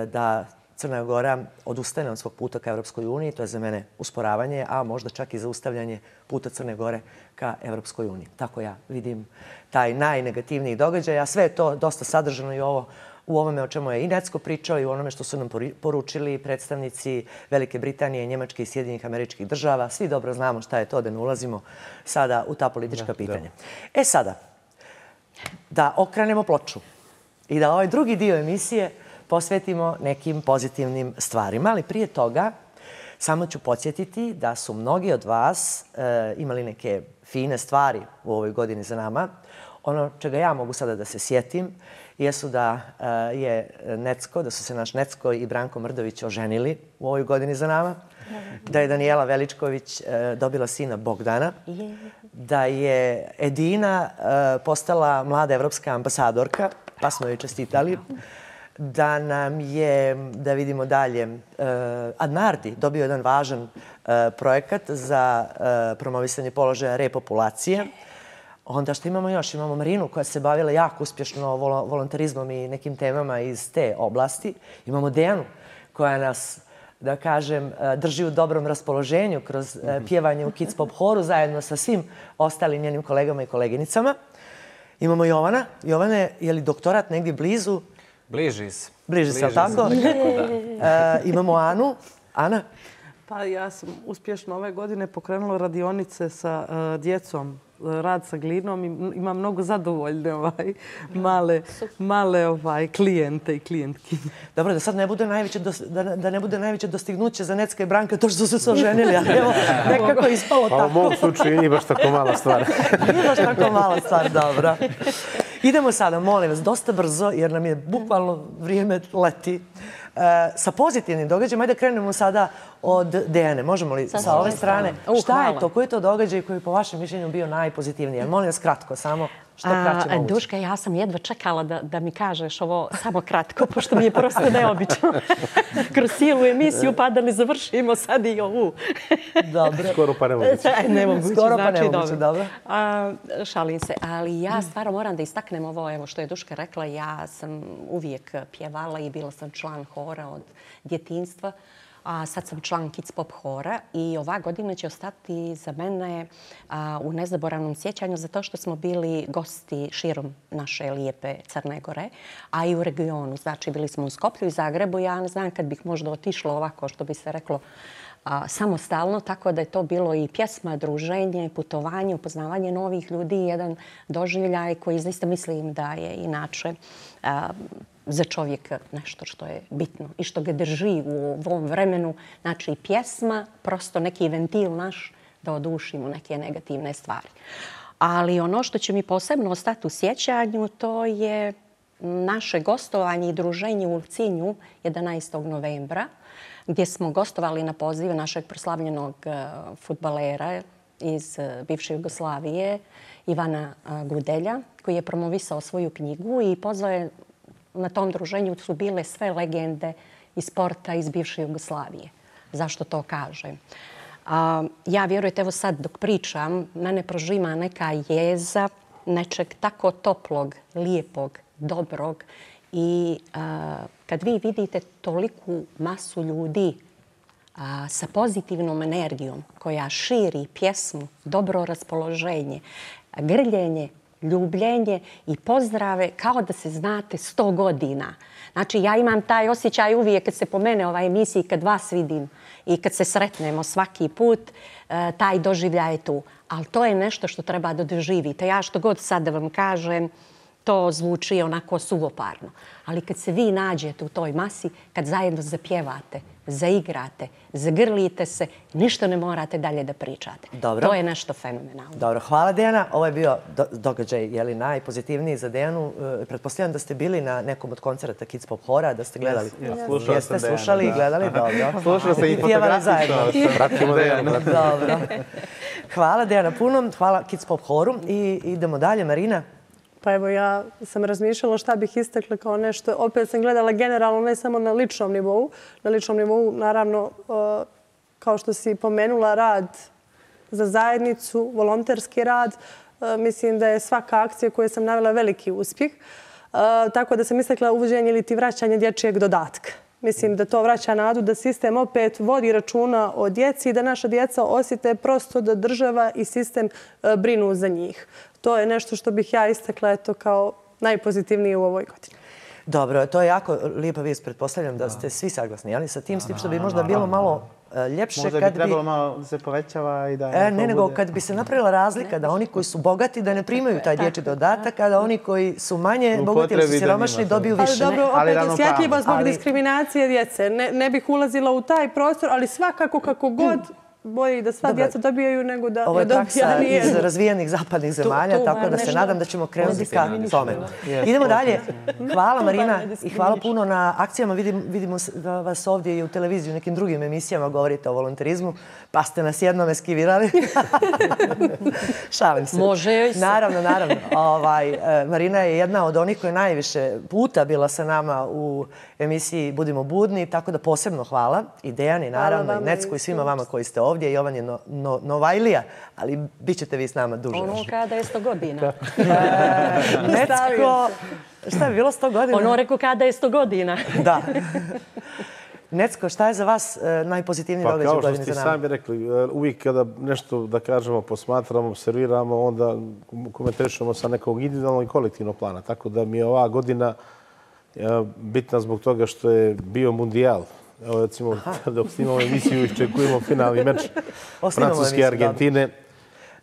da Crna Gora odustane od svog puta ka Evropskoj uniji. To je za mene usporavanje, a možda čak i zaustavljanje puta Crne Gore ka Evropskoj uniji. Tako ja vidim taj najnegativniji događaj, a sve je to dosta sadržano i u ovome o čemu je i Necko pričao i u onome što su nam poručili predstavnici Velike Britanije, Njemačke i Sjedinjenih Američkih Država. Svi dobro znamo šta je to, da ne ulazimo sada u ta politička pitanja. E sada, da okrenemo ploču i da ovaj drugi dio emisije posvetimo nekim pozitivnim stvarima. Ali prije toga samo ću podsjetiti da su mnogi od vas imali neke fine stvari u ovoj godini za nama. Ono čega ja mogu sada da se sjetim jesu da je Necko, da su se naš Necko i Branko Mrdović oženili u ovoj godini za nama, da je Danijela Veličković dobila sina Bogdana, da je Edina postala mlada evropska ambasadorka, pa smo joj čestitali, da nam je, da vidimo dalje, Adnardi dobio jedan važan projekat za promovisanje položaja repopulacije. Onda što imamo još? Imamo Marinu koja se bavila jako uspješno volontarizmom i nekim temama iz te oblasti. Imamo Dejanu koja nas, da kažem, drži u dobrom raspoloženju kroz pjevanje u Kids Pop horu zajedno sa svim ostalim njenim kolegama i koleginicama. Imamo Jovana. Jovane, je li doktorat negdje blizu? Bliži se. Bliži se, ali tako? Imamo Anu. Ana? Pa ja sam uspješno ove godine pokrenula radionice sa djecom, rad sa glinom i imam mnogo zadovoljne male klijente i klijentki. Dobro, da sad ne bude najveće dostignuće za Necka i Branka to što su se oženili, ali evo, nekako je ispalo tako. Pa u mom slučaju nije baš tako mala stvar. Nije baš tako mala stvar, dobro. Idemo sada, molim vas, dosta brzo, jer nam je bukvalno vrijeme leti. Sa pozitivnim događajima, ajde krenemo sada od Dejane. Možemo li sa ove strane? Šta je to? Koji je to događaj koji je po vašem mišljenju bio najpozitivniji? Molim vas kratko, samo što kraće moguće. Duška, ja sam jedva čekala da mi kažeš ovo samo kratko, pošto mi je prosto neobično. Kroz cijelu emisiju pa da ne završimo sad i ovu. Dobro. Skoro pa nemoguće. Nemoguće, Skoro pa znači nemoguće, dobro. Šalim se, ali ja stvarno moram da istaknem ovo, evo što je Duška rekla, ja sam uvijek pjevala i bila sam član hora od djetinjstva. A sad sam član Kids Pop hora i ova godina će ostati za mene u nezaboravnom sjećanju zato što smo bili gosti širom naše lijepe Crne Gore, a i u regionu. Znači, bili smo u Skoplju i Zagrebu. Ja ne znam kad bih možda otišla ovako, što bi se reklo, samostalno, tako da je to bilo i pjesma, druženje, putovanje, upoznavanje novih ljudi, jedan doživljaj koji zaista mislim da je inače za čovjeka nešto što je bitno i što ga drži u ovom vremenu. Znači, pjesma, prosto neki ventil naš da odušimo neke negativne stvari. Ali ono što će mi posebno ostati u sjećanju, to je naše gostovanje i druženje u Ulcinju 11. novembra, gdje smo gostovali na poziv našeg proslavljenog fudbalera iz bivše Jugoslavije, Ivana Gudelja, koji je promovisao svoju knjigu i pozvao je. Na tom druženju su bile sve legende iz sporta iz bivše Jugoslavije. Zašto to kažem? Ja, vjerujte, evo sad dok pričam, mene prožima neka jeza nečeg tako toplog, lijepog, dobrog. I kad vi vidite toliku masu ljudi sa pozitivnom energijom koja širi pjesmu, dobro raspoloženje, grljenje, ljubljenje i pozdrave kao da se znate 100 godina. Znači, ja imam taj osjećaj uvijek kad se pomene ova emisija, kad vas vidim i kad se sretnemo svaki put, taj doživljaj je tu. Ali to je nešto što treba da doživite. Ja što god sad da vam kažem, to zvuči onako suvoparno. Ali kad se vi nađete u toj masi, kad zajedno zapjevate, zaigrate, zagrlite se, ništa ne morate dalje da pričate. Dobro. To je nešto fenomenalno. Dobro, hvala Dejana. Ovo je bio događaj najpozitivniji za Dejanu. Pretpostavljam da ste bili na nekom od koncerata Kids Pop hora, da ste gledali. Jeste slušali i gledali? Dobro. Slušao sam i fotografiju. Pratimo Dejanu. Dobro. Hvala Dejana puno. Hvala Kids Pop horu. I idemo dalje. Marina? Pa evo, ja sam razmišljala šta bih istakla kao nešto. Opet sam gledala generalno, ne samo na ličnom nivou. Na ličnom nivou, naravno, kao što si pomenula, rad za zajednicu, volonterski rad. Mislim da je svaka akcija koju sam navela veliki uspjeh. Tako da sam istakla uvođenje ili ti vraćanje dječjeg dodatka. Mislim da to vraća nadu da sistem opet vodi računa o djeci i da naša djeca osjete prosto da država i sistem brinu za njih. To je nešto što bih ja istakla kao najpozitivnije u ovoj godini. Dobro, to je jako lijepa vijest. Pretpostavljam da ste svi saglasni, ali sa tim s tim što bi možda bilo malo ljepše možda bi trebalo malo da se povećava i da... Ne, nego kad bi se napravila razlika da oni koji su bogati da ne primaju taj dječji dodatak, a da oni koji su manje bogati ili su siromašni dobiju više. Ali dobro, opet osjetljivo zbog diskriminacije djece. Ne bih ulazila u taj prostor, ali svakako kako god bolje da sva djeca dobijaju nego da ovo je praksa iz razvijenih zapadnih zemalja, tako da se nadam da ćemo krenuti ka tome. Idemo dalje. Hvala Marina i hvala puno na akcijama. Vidimo vas ovdje i u televiziji, u nekim drugim emisijama govorite o volonterizmu, pa ste nas jednom eskivirali. Šalim se. Može joj se. Naravno. Marina je jedna od onih koja je najviše puta bila sa nama u emisiji Budimo budni, tako da posebno hvala i Dejani, naravno, i Necku i svima vama koji ste ovdje. Jovan je Novajlija, ali bit ćete vi s nama duže. Ono kada je 100 godina. Necko, šta je bilo 100 godina? Ono rekao kada je 100 godina. Da. Necko, šta je za vas najpozitivniji događaj u godini za nama? Kao što ste sami rekli, uvijek kada nešto, da kažemo, posmatramo, observiramo, onda komentarišemo sa nekog individualnog i kolektivnog plana. Tako da mi je ova godina bitna zbog toga što je bio mundijal Evo, recimo, dok snimamo emisiju, iščekujemo finalni meč Francuske i Argentine.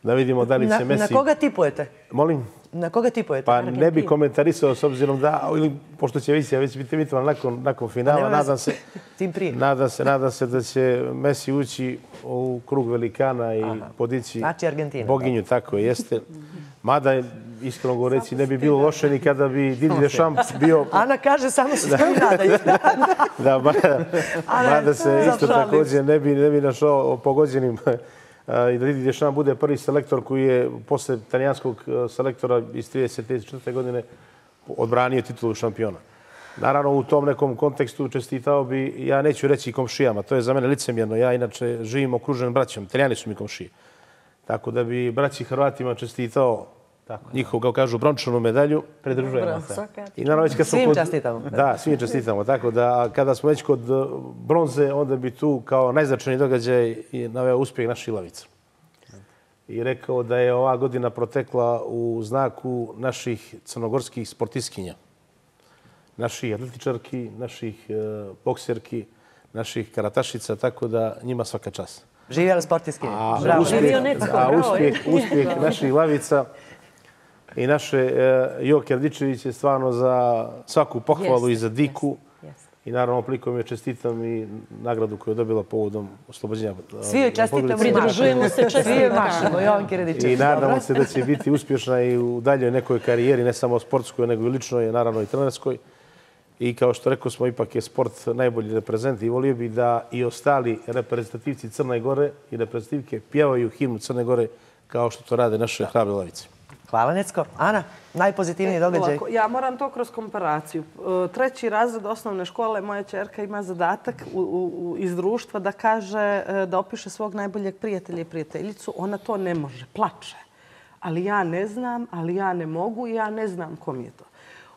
Da vidimo da li će Messi... Na koga tipujete? Molim? Na koga tipujete? Pa ne bi komentarisao s obzirom da, ili pošto će emisija već biti emitovana nakon finala, nadam se da će Messi ući u krug velikana i podići boginju, tako jeste. Mada, iskreno govoreći, ne bi bilo loše ni kada bi Didier Deschamps bio... Ana kaže, samo se svi nadaju. Da, mada se isto također ne bi našao pogođenim i da Didier Deschamps bude prvi selektor koji je posle italijanskog selektora iz 34. godine odbranio titulu šampiona. Naravno, u tom nekom kontekstu čestitao bi, ja neću reći komšijama, to je za mene licemjerno. Ja inače živim okružen braćom, Italijani su mi komšije. Tako da bi braći Hrvatima čestitao njihovu, kao kažu, brončanu medalju. Pridružujemo se. Svim čestitamo. Da, svim čestitamo. Tako da kada smo već kod bronze, onda bi tu kao najznačajniji događaj naveo uspjeh naših lavica. I rekao da je ova godina protekla u znaku naših crnogorskih sportistkinja. Naših atletičarki, naših bokserki, naših karatašica, tako da njima svaka čast. Živjeli sportistkinje. A uspjeh naših lavica i naše Joke Radičević je stvarno za svaku pohvalu i za diku. I naravno, plikom je čestitam i nagradu koju je dobila povodom oslobođenja. Svi joj čestitamo. Pridružujemo se čestitamo. Jovanki Radičević. I nadamo se da će biti uspješna i u daljoj nekoj karijeri, ne samo sportskoj, nego i ličnoj, naravno i trenerskoj. I kao što rekao smo, ipak je sport najbolji reprezent i volio bi da i ostali reprezentativci Crne Gore i reprezentativke pjevaju himnu Crne Gore kao što to rade naše hrabre lavice. Hvala, Necko. Ana, najpozitivniji događaj? Ja moram to kroz komparaciju. 3. razred osnovne škole moja ćerka ima zadatak iz društva da kaže, da opiše svog najboljeg prijatelja i prijateljicu. Ona to ne može, plače. Ali ja ne znam, ali ja ne mogu i ja ne znam kom je to.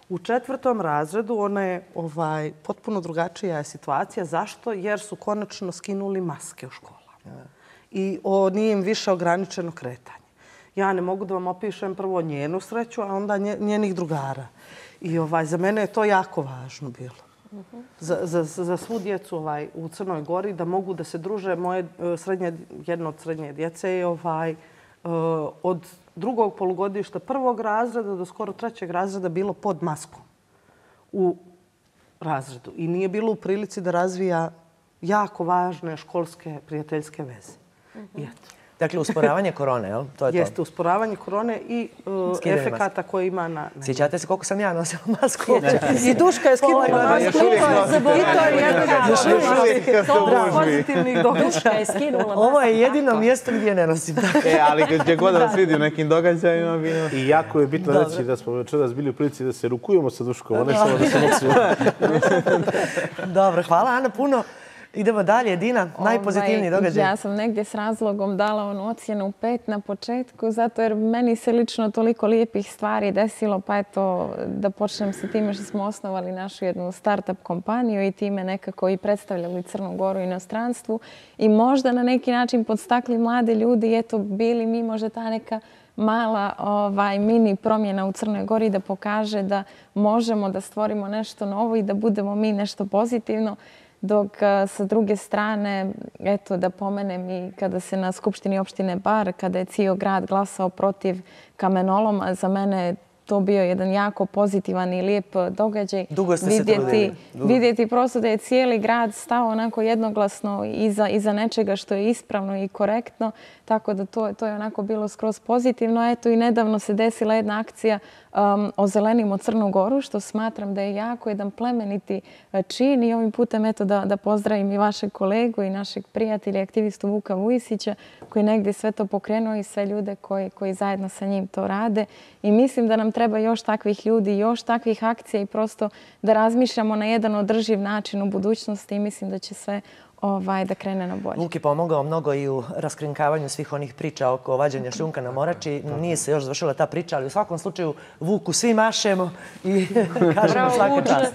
U 4. razredu ona je potpuno drugačija situacija. Zašto? Jer su konačno skinuli maske u školama. I nije im više ograničeno kretanje. Ja ne mogu da vam opišem prvo njenu sreću, a onda njenih drugara. I za mene je to jako važno bilo. Za svu djecu u Crnoj Gori da mogu da se druže. Jedno od srednje djece je od drugog polugodišta 1. razreda do skoro 3. razreda bilo pod maskom u razredu. I nije bilo u prilici da razvija jako važne školske prijateljske veze. I eto. Dakle, usporavanje korone, jel? To je to. Jeste, usporavanje korone i efekata koje ima na... Sjećate se koliko sam ja nosila masku? I Duška je skinula masku. I to je jedan od pozitivnih događaja. Ovo je jedino mjesto gdje ne nosim. Ali gdje god vas vidi u nekim događajima... I jako je bitno reći da smo večeras bili u prilici da se rukujemo sa Duškom, a ne samo da se nosimo. Dobro, hvala Ana puno. Idemo dalje. Dina, najpozitivniji događaj. Ja sam negdje s razlogom dala onu ocjenu 5 na početku, zato jer meni se lično toliko lijepih stvari desilo, pa eto da počnem sa time što smo osnovali našu jednu start-up kompaniju i time nekako i predstavljali Crnu Goru u inostranstvu i možda na neki način podstakli mlade ljudi i eto bili mi možda ta neka mala mini promjena u Crnoj Gori da pokaže da možemo da stvorimo nešto novo i da budemo mi nešto pozitivno. Dok sa druge strane, eto da pomenem i kada se na Skupštini opštine Bar, kada je cijel grad glasao protiv kamenoloma, za mene je to bio jedan jako pozitivan i lijep događaj. Dugo ste se trudili. Vidjeti prosto da je cijeli grad stao onako jednoglasno iza nečega što je ispravno i korektno. Tako da to je onako bilo skroz pozitivno. Eto i nedavno se desila jedna akcija Ozelenimo Crnu Goru, što smatram da je jako jedan plemeniti čin i ovim putem eto da pozdravim i vašeg kolegu i našeg prijatelja i aktivistu Vuka Vujisića koji negdje sve to pokrenuo i sve ljude koji zajedno sa njim to rade. I mislim da nam treba još takvih ljudi, još takvih akcija i prosto da razmišljamo na jedan održiv način u budućnosti i mislim da će sve da krene na bolje. Vuk je pomogao mnogo i u raskrinkavanju svih onih priča oko vađenja šljunka na Morači. Nije se još završila ta priča, ali u svakom slučaju Vuku svi mašemo i kažemo svaka čast.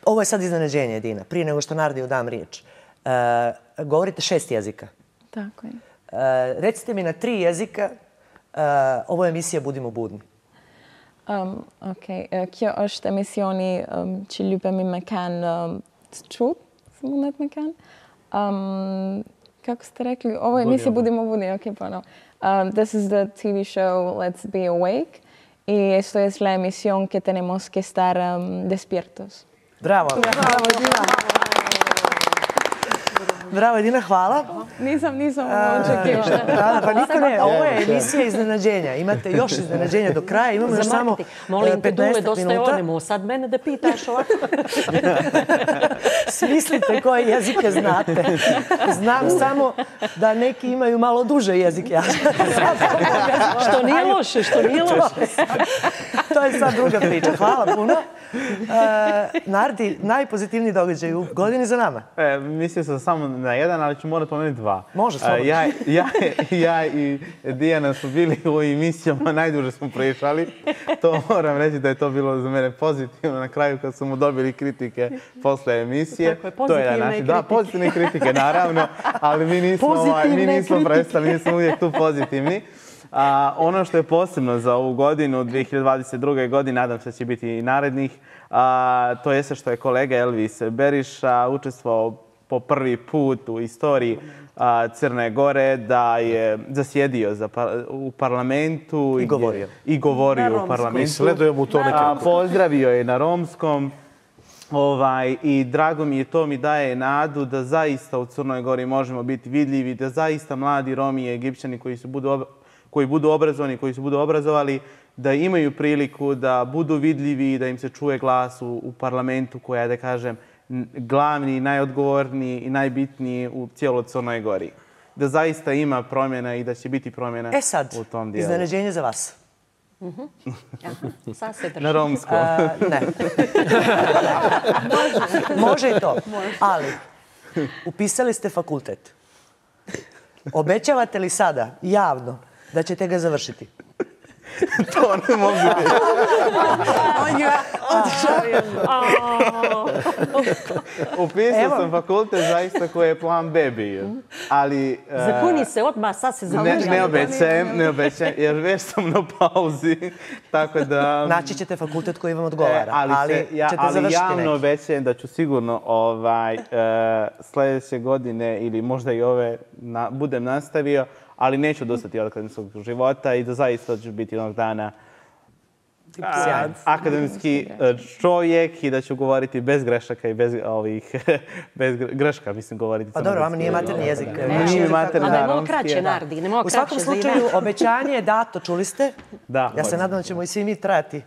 Ovo je sad iznenađenje, Dina. Prije nego što Nardiju dam riječ. Govorite 6 jezika. Tako je. Recite mi na 3 jezika. Ovo je emisija Budimo budni. Kjo është emisioni që lypemi me kanë čut smo Netmekan. Kako ste rekli? Ovo je emisija Budimo budni, ok, ponovo. This is the TV show Let's Be Awake y esto es la emisión que tenemos que estar despiertos. Bravo. Bravo, Edina. Bravo, Edina, hvala. Nisam očekivala. Pa niko ne, ovo je emisija iznenađenja. Imate još iznenađenja do kraja, imamo još samo 15 minuta. Molim te, Dule, dosta je onemo. Sad mene da pitaš ovako. Smislite koje jezike znate. Znam samo da neki imaju malo duže jezike. Što nije loše, što nije loše. To je sad druga priča. Hvala puno. Nardi, najpozitivniji događaj u godini za nama. Mislio sam samo na jedan, ali ću morati pomenuti dva. Može, slobodno. Ja i Dijana su bili u emisijama, najduže smo pričali. To moram reći da je to bilo za mene pozitivno na kraju kad smo dobili kritike posle emisije. Tako je, pozitivne kritike. Da, pozitivne kritike, naravno, ali mi nismo prestali, mi smo uvijek tu pozitivni. Ono što je posebno za ovu godinu, 2022. godine, nadam se da će biti i narednih, to je što je kolega Elvis Beriša učestvovao po prvi put u istoriji Crne Gore, da je zasjedio u parlamentu. I govorio u parlamentu. Sledujem u to nekako. Pozdravio je na romskom. I drago mi je, to mi daje nadu da zaista u Crnoj Gori možemo biti vidljivi, da zaista mladi Romi i Egipćani koji budu obrazovani, koji se budu obrazovali, da imaju priliku da budu vidljivi i da im se čuje glas u parlamentu koja je, da kažem, glavni, najodgovorniji i najbitniji u cijeloj Crnoj Gori. Da zaista ima promjena i da će biti promjena u tom dijelu. Iznenađenje za vas. Sad se drži. Na romskom. Ne. Može i to. Ali, upisali ste fakultet. Obećavate li sada, javno, da ćete ga završiti? To ne mogu reći. On je Upisao sam fakultet zaista koji je plan B bio. Ali... Zakuni se odmah, sad se završava. Ne obećajem, jer već sam na pauzi. Tako da... Naći ćete fakultet koji vam odgovara, ali ćete završiti neki. Ali javno obećajem da ću sigurno sljedeće godine ili možda i ove budem nastavio, ali neću odustati od akademskog života i da zaista ću biti jednog dana akademski čovjek i da ću govoriti bez grešaka i bez greška, mislim, govoriti. Pa dobro, vama nije materni jezik. Nije materni, da, romski kraće, Nardi. U svakom slučaju, obećanje je dato, čuli ste? Da. Ja se nadam da ćemo i svi mi trajati.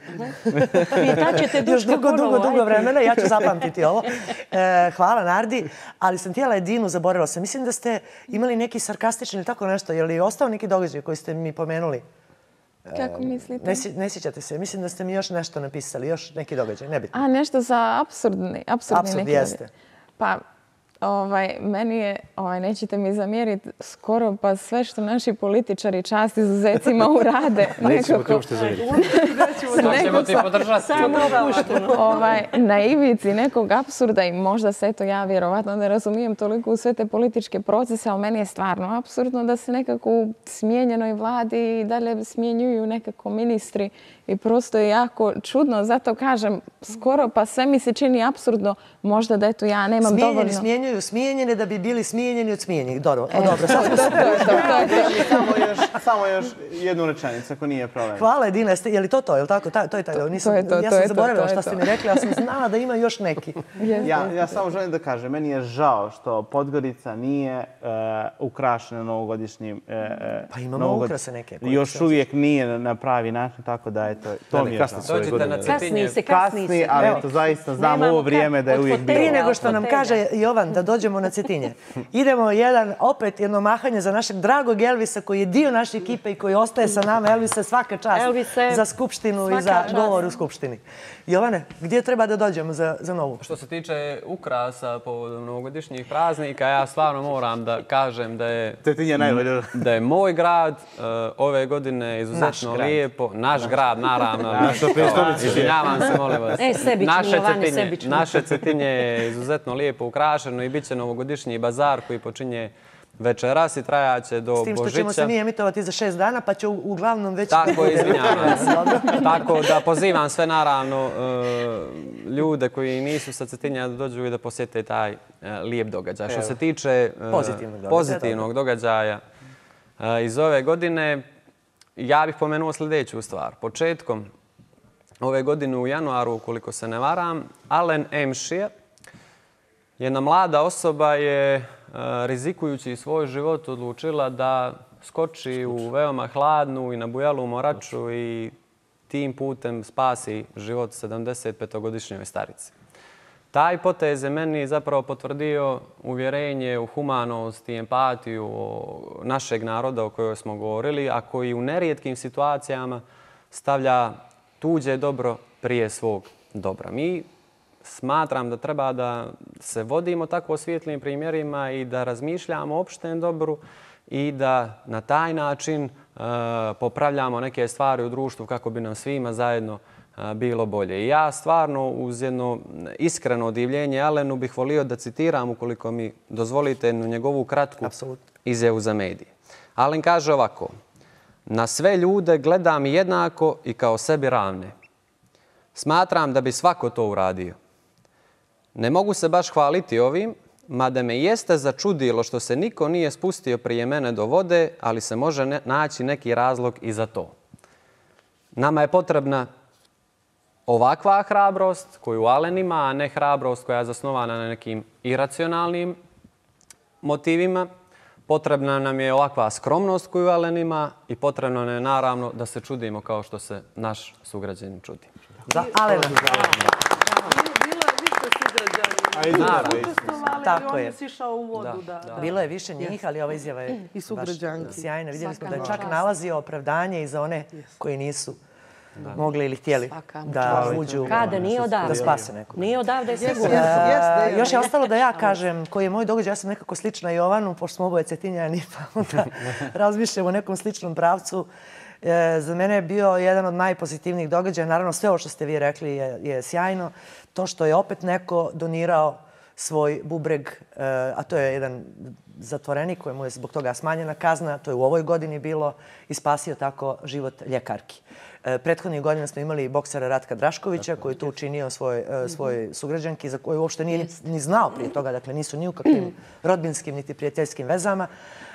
Još dugo vremena, ja ću zapamtiti ovo. Hvala, Nardi, ali sam htjela Edinu, zaboravila sam. Mislim da ste imali neki sarkastični ili tako nešto, je li ostao neki događaj koji ste mi pomenuli? Kako mislite? Ne sjećate se. Mislim da ste mi još nešto napisali, još neki događaj, nebitno. Nešto za apsurdni neki jeste. Pa, meni je, nećete mi zamjeriti, skoro pa sve što naši političari čast izuzecima urade. Nećemo ti uopšte zamjeriti. Nećemo ti podržati. Samo opušteno. Na ivici nekog apsurda i možda se to ja vjerovatno ne razumijem toliko u sve te političke procese, ali meni je stvarno apsurdno da se nekako u smijenjenoj vladi i dalje smjenjuju nekako ministri i prosto je jako čudno. Zato kažem, skoro pa sve mi se čini apsurdno. Možda da eto ja nemam dovoljno... Smijenjeni, smijenjene da bi bili smijenjeni od smijenjenih. Dobro. Samo još jednu rečenicu, ako nije problem. Hvala, Edina. Je li to? Je li tako? To je taj. Ja sam zaboravila što ste mi rekli, ali sam znala da ima još neki. Ja samo želim da kažem, meni je žao što Podgorica nije ukrašena novogodišnjim... Pa imamo ukrase neke. Još uvijek nije na pravi način, tako da to mi je žao. Dođite na Cetinje. Kasni, ali to zaista znam ovo vrijeme da je uvijek bilo. Prije nego što nam kaže Jovan da dođemo na Cetinje, idemo opet jedno mahanje za našeg dragog Elvisa koji je dio naše ekipe i koji ostaje sa nama. Elvisa, svaka čast za Skupštinu i za govor u Skupštini. Jovane, gdje treba da dođemo za novu? Što se tiče ukrasa povodom novogodišnjih praznika, ja stvarno moram da kažem da je moj grad ove godine izuzetno lijepo. Naš grad, naravno. Izvinjavam se, molim vas. Naše Cetinje je izuzetno lijepo ukrašeno i bit će novogodišnji bazar koji počinje večeras i trajaće do Božića. S tim što ćemo se mi emitovati za 6 dana, pa će uglavnom već... Tako je, izvinjavam se. Tako da pozivam sve, naravno, ljude koji nisu sa Cetinja da dođu i da posjete taj lijep događaj. Što se tiče pozitivnog događaja iz ove godine, ja bih pomenuo sljedeću stvar. Početkom ove godine u januaru, ukoliko se ne varam, Alen Emšija, jedna mlada osoba je, rizikujući svoj život, odlučila da skoči u veoma hladnu i nabujalu moraču i tim putem spasi život 75-godišnjoj starici. Taj potez je meni zapravo potvrdio uvjerenje u humanost i empatiju našeg naroda o kojoj smo govorili, a koji u nerijetkim situacijama stavlja tuđe dobro prije svog dobra. Mi smatram da treba da se vodimo tako svijetlim primjerima i da razmišljamo o opštem dobru i da na taj način popravljamo neke stvari u društvu kako bi nam svima zajedno bilo bolje. I ja stvarno uz jedno iskreno divljenje Alenu bih volio da citiram, ukoliko mi dozvolite, njegovu kratku izjavu za medije. Alen kaže ovako: na sve ljude gledam jednako i kao sebi ravne. Smatram da bi svako to uradio. Ne mogu se baš hvaliti ovim, mada me jeste začudilo što se niko nije spustio prije mene do vode, ali se može naći neki razlog i za to. Nama je potrebna ovakva hrabrost koju Alen ima, a ne hrabrost koja je zasnovana na nekim iracionalnim motivima. Potrebna nam je ovakva skromnost koju Alen ima i potrebno nam je naravno da se čudimo kao što se naš sugrađanin čudi. Za Alena. Tako je. On je sišao u vodu. Bilo je više njih, ali ova izjava je baš sjajna. Vidjeli smo da je čak nalazio opravdanje i za one koji nisu mogli ili htjeli da uđu, da spase nekog. Nije odavde je sigurno. Još je ostalo da ja kažem koji je moj događaj. Ja sam nekako slična Jovanu, pošto smo oboje Cetinjani, pa onda razmišljamo o nekom sličnom pravcu. Za mene je bio jedan od najpozitivnijih događaja. Naravno, sve ovo što ste vi rekli je sjajno. To što je opet neko donirao svoj bubreg, a to je jedan zatvorenik kojemu je zbog toga smanjena kazna, to je u ovoj godini bilo, i spasio tako život ljekarki. Prethodnih godina smo imali boksera Ratka Draškovića koji je to učinio svoj sugrađanki za koju uopšte nije ni znao prije toga, dakle nisu ni u kakvim rodbinskim niti prijateljskim vezama,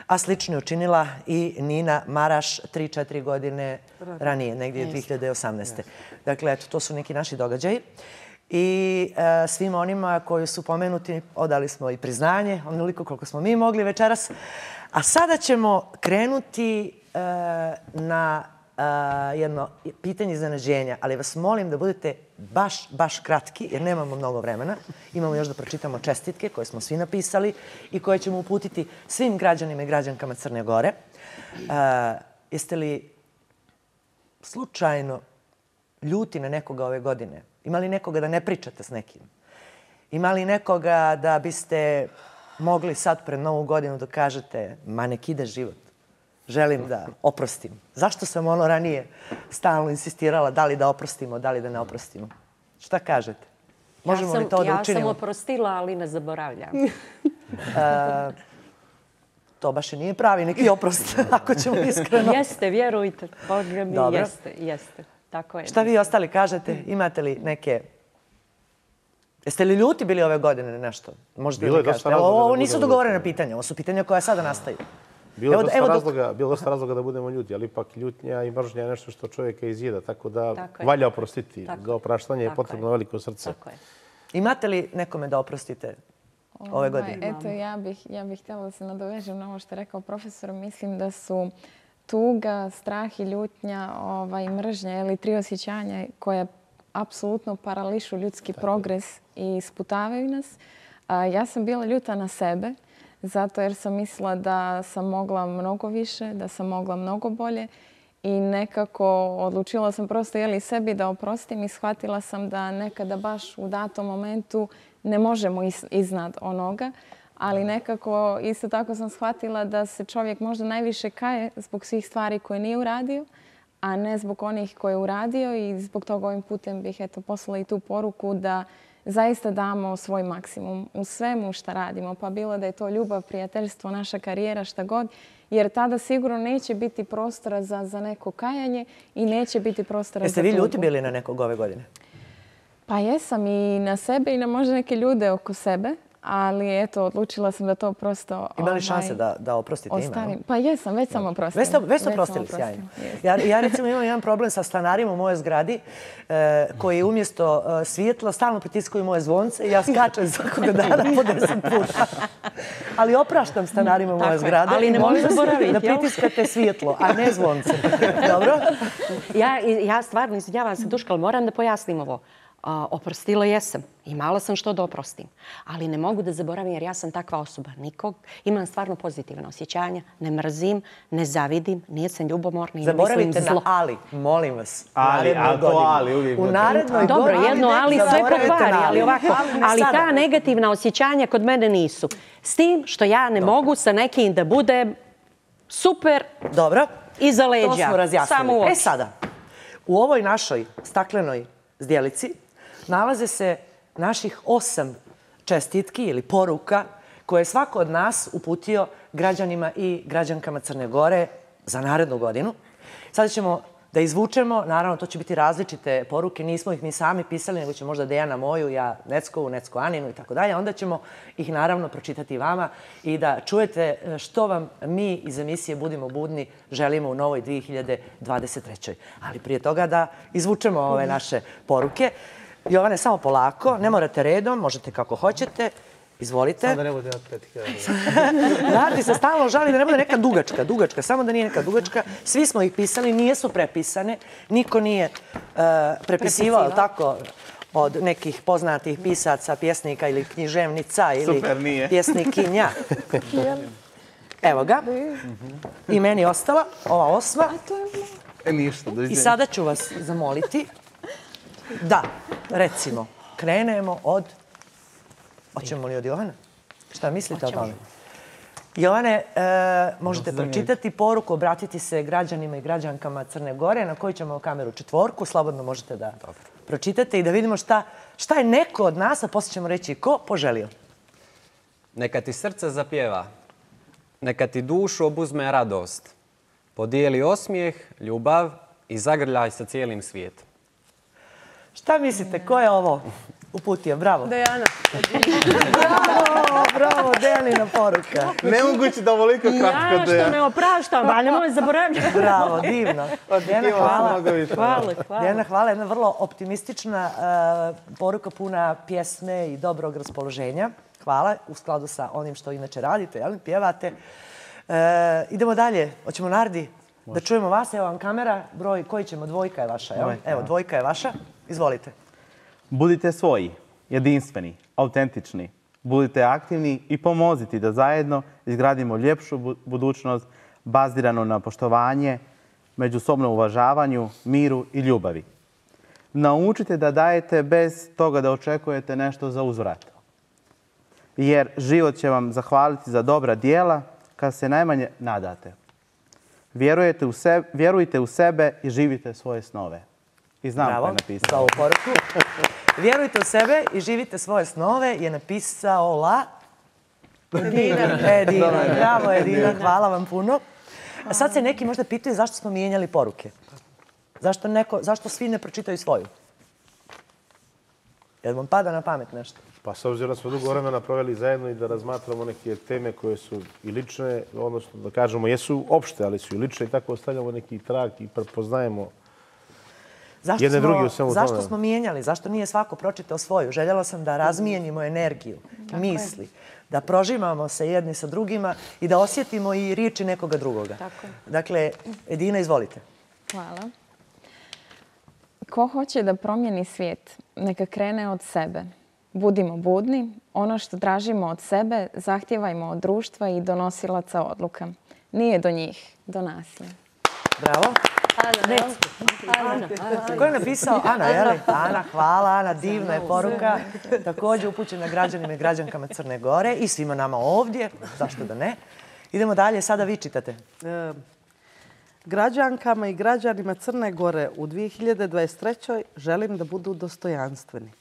a slično je učinila i Nina Maraš 3-4 godine ranije, negdje 2018. Dakle, eto, to su neki naši događaji. I svima onima koji su pomenuti odali smo i priznanje, onoliko koliko smo mi mogli večeras. A sada ćemo krenuti na jedno pitanje iznenađenja, ali vas molim da budete baš kratki, jer nemamo mnogo vremena. Imamo još da pročitamo čestitke koje smo svi napisali i koje ćemo uputiti svim građanima i građankama Crne Gore. Jeste li slučajno ljuti na nekoga ove godine? Ima li nekoga da ne pričate s nekim? Ima li nekoga da biste mogli sad pred Novu godinu da kažete ma nek ide život? Želim da oprostim. Zašto sam ono ranije stalno insistirala da li da oprostimo, da li da ne oprostimo? Šta kažete? Možemo li to da učinimo? Ja sam oprostila, ali ne zaboravljam. To baš i nije pravi neki oprost, ako ćemo iskreno. Jeste, vjerujte. Boga mi, jeste. Tako je. Šta vi ostali kažete? Imate li neke... Jeste li ljuti bili ove godine na nešto? Možete li kažete? Ovo nisu dogovorene pitanja, ovo su pitanja koja sada nastaju. Bilo dosta razloga da budemo ljuti, ali ipak ljutnja i mržnja je nešto što čovjeka izjeda, tako da valja oprostiti. Za opraštanje je potrebno veliko srce. Imate li nekome da oprostite ove godine? Eto, ja bih htjela da se nadovežem na ovo što je rekao profesor. Mislim da su tuga, strah i ljutnja i mržnja ili tri osjećanja koje apsolutno parališu ljudski progres i sputavaju nas. Ja sam bila ljuta na sebe zato jer sam mislila da sam mogla mnogo više, da sam mogla mnogo bolje i nekako odlučila sam prosto sebi da oprostim i shvatila sam da nekada baš u datom momentu ne možemo iznad onoga, ali nekako isto tako sam shvatila da se čovjek možda najviše kaje zbog svih stvari koje nije uradio, a ne zbog onih koje je uradio i zbog toga ovim putem bih poslala i tu poruku da zaista damo svoj maksimum u svemu što radimo. Pa bilo da je to ljubav, prijateljstvo, naša karijera, šta god. Jer tada sigurno neće biti prostora za neko kajanje i neće biti prostora za tugu. Jeste vi ljuti bili na nekog ove godine? Pa jesam i na sebe i na možda neke ljude oko sebe. Ali eto, odlučila sam da to prosto... Ima li šanse da oprostite ime? Pa jesam, već sam oprostila. Već ste oprostili, sjajno. Ja recimo imam jedan problem sa stanarima u mojoj zgradi koji umjesto svjetla stalno pritiskaju moje zvonce i ja skačem svakoga dana po 10 puta. Ali opraštam stanarima u moje zgrade. Ali ne molim zaboraviti. Da pritiskate svjetlo, a ne zvonce. Dobro? Ja stvarno, izvinjavam se Duška, ali moram da pojasnim ovo. Oprostila jesam. Imala sam što da oprostim. Ali ne mogu da zaboravim jer ja sam takva osoba. Imam stvarno pozitivna osjećanja. Ne mrzim, ne zavidim, nisam ljubomorna i ne mislim zlo. Zaboravite na ali, molim vas. Ali uvijek. U narednoj godini. Dobro, jedno ali sve pokvari, ali ovako. Ali ta negativna osjećanja kod mene nisu. S tim što ja ne mogu sa nekim da budem super iza leđa. To smo razjasnili. Samo u oči. Sada, u ovoj našoj staklenoj zdjelici nalaze se naših 8 čestitki ili poruka koje je svako od nas uputio građanima i građankama Crne Gore za narednu godinu. Sada ćemo da izvučemo, naravno to će biti različite poruke, nismo ih mi sami pisali, nego će možda Dejana moju, ja Neckovu, Necko Aninu i tako dalje. Onda ćemo ih naravno pročitati vama i da čujete što vam mi iz emisije Budimo budni želimo u novoj 2023. Ali prije toga da izvučemo ove naše poruke. Jovane, samo polako, ne morate redom, možete kako hoćete. Izvolite. Samo da ne bude od 5.000. Nardi se stalno žali da ne bude neka dugačka, samo da nije neka dugačka. Svi smo ih pisali, nijesu prepisane. Niko nije prepisivao tako od nekih poznatih pisaca, pjesnika ili književnica ili pjesnikinja. Evo ga. I meni ostala ova 8. I sada ću vas zamoliti da, recimo, krenemo od... Hoćemo li od Jovana? Šta mislite o tome? Jovane, možete pročitati poruku, obratiti se građanima i građankama Crne Gore, na koju ćemo kameru 4, slobodno možete da pročitate i da vidimo šta je neko od nas, a poslije ćemo reći ko, poželio. Neka ti srce zapjeva, neka ti dušu obuzme radost, podijeli osmijeh, ljubav i zagrljaj sa cijelim svijetom. Šta mislite, ko je ovo uputio? Bravo. Dejana. Bravo, Dejanina poruka. Nemoguće da ovoliko kratko Ja što me opraštam, ali nemoj zaboraviti. Bravo, divno. Dejana, Hvala. Dejana, hvala. Jedna vrlo optimistična poruka puna pjesme i dobrog raspoloženja. Hvala, u skladu sa onim što inače radite, pjevate. Idemo dalje. Hoćemo Nardi da čujemo vas. Evo vam kamera. Broj koji ćemo? 2 je vaša. Evo, 2 je vaša. Izvolite. Budite svoji, jedinstveni, autentični. Budite aktivni i pomozite da zajedno izgradimo ljepšu budućnost baziranu na poštovanje, međusobnom uvažavanju, miru i ljubavi. Naučite da dajete bez toga da očekujete nešto za uzvrat. Jer život će zahvaliti za dobra djela kad se najmanje nadate. Vjerujte u sebe i živite svoje snove. I znam ko je napisao. Bravo, za ovu poruku. Vjerujte u sebe i živite svoje snove je napisao Edina. Bravo, Edina, hvala vam puno. A sad se neki možda pitaju zašto smo mijenjali poruke. Zašto svi ne pročitaju svoju? Jel vam pada na pamet nešto? Pa s obzirom da smo dugo vremena proveli zajedno i da razmatramo neke teme koje su i lične, odnosno da kažemo jesu opšte, ali su i lične i tako ostavljamo neki trag i prepoznajemo jedne drugi u svemu tome. Zašto smo mijenjali? Zašto nije svako pročitao svoju? Željela sam da razmijenimo energiju, misli, da prožimamo se jedni sa drugima i da osjetimo i riječi nekoga drugoga. Dakle, Edina, izvolite. Hvala. Ko hoće da promijeni svijet, neka krene od sebe. Budimo budni, ono što tražimo od sebe zahtijevajmo od društva i donosilaca odluka. Nije do njih, do nas je. Bravo. Ko je napisao? Ana, je li? Ana, hvala Ana, divna je poruka. Također upućena građanima i građankama Crne Gore i svima nama ovdje, zašto da ne. Idemo dalje, sada vi čitate. Građankama i građanima Crne Gore u 2023. želim da budu dostojanstveni.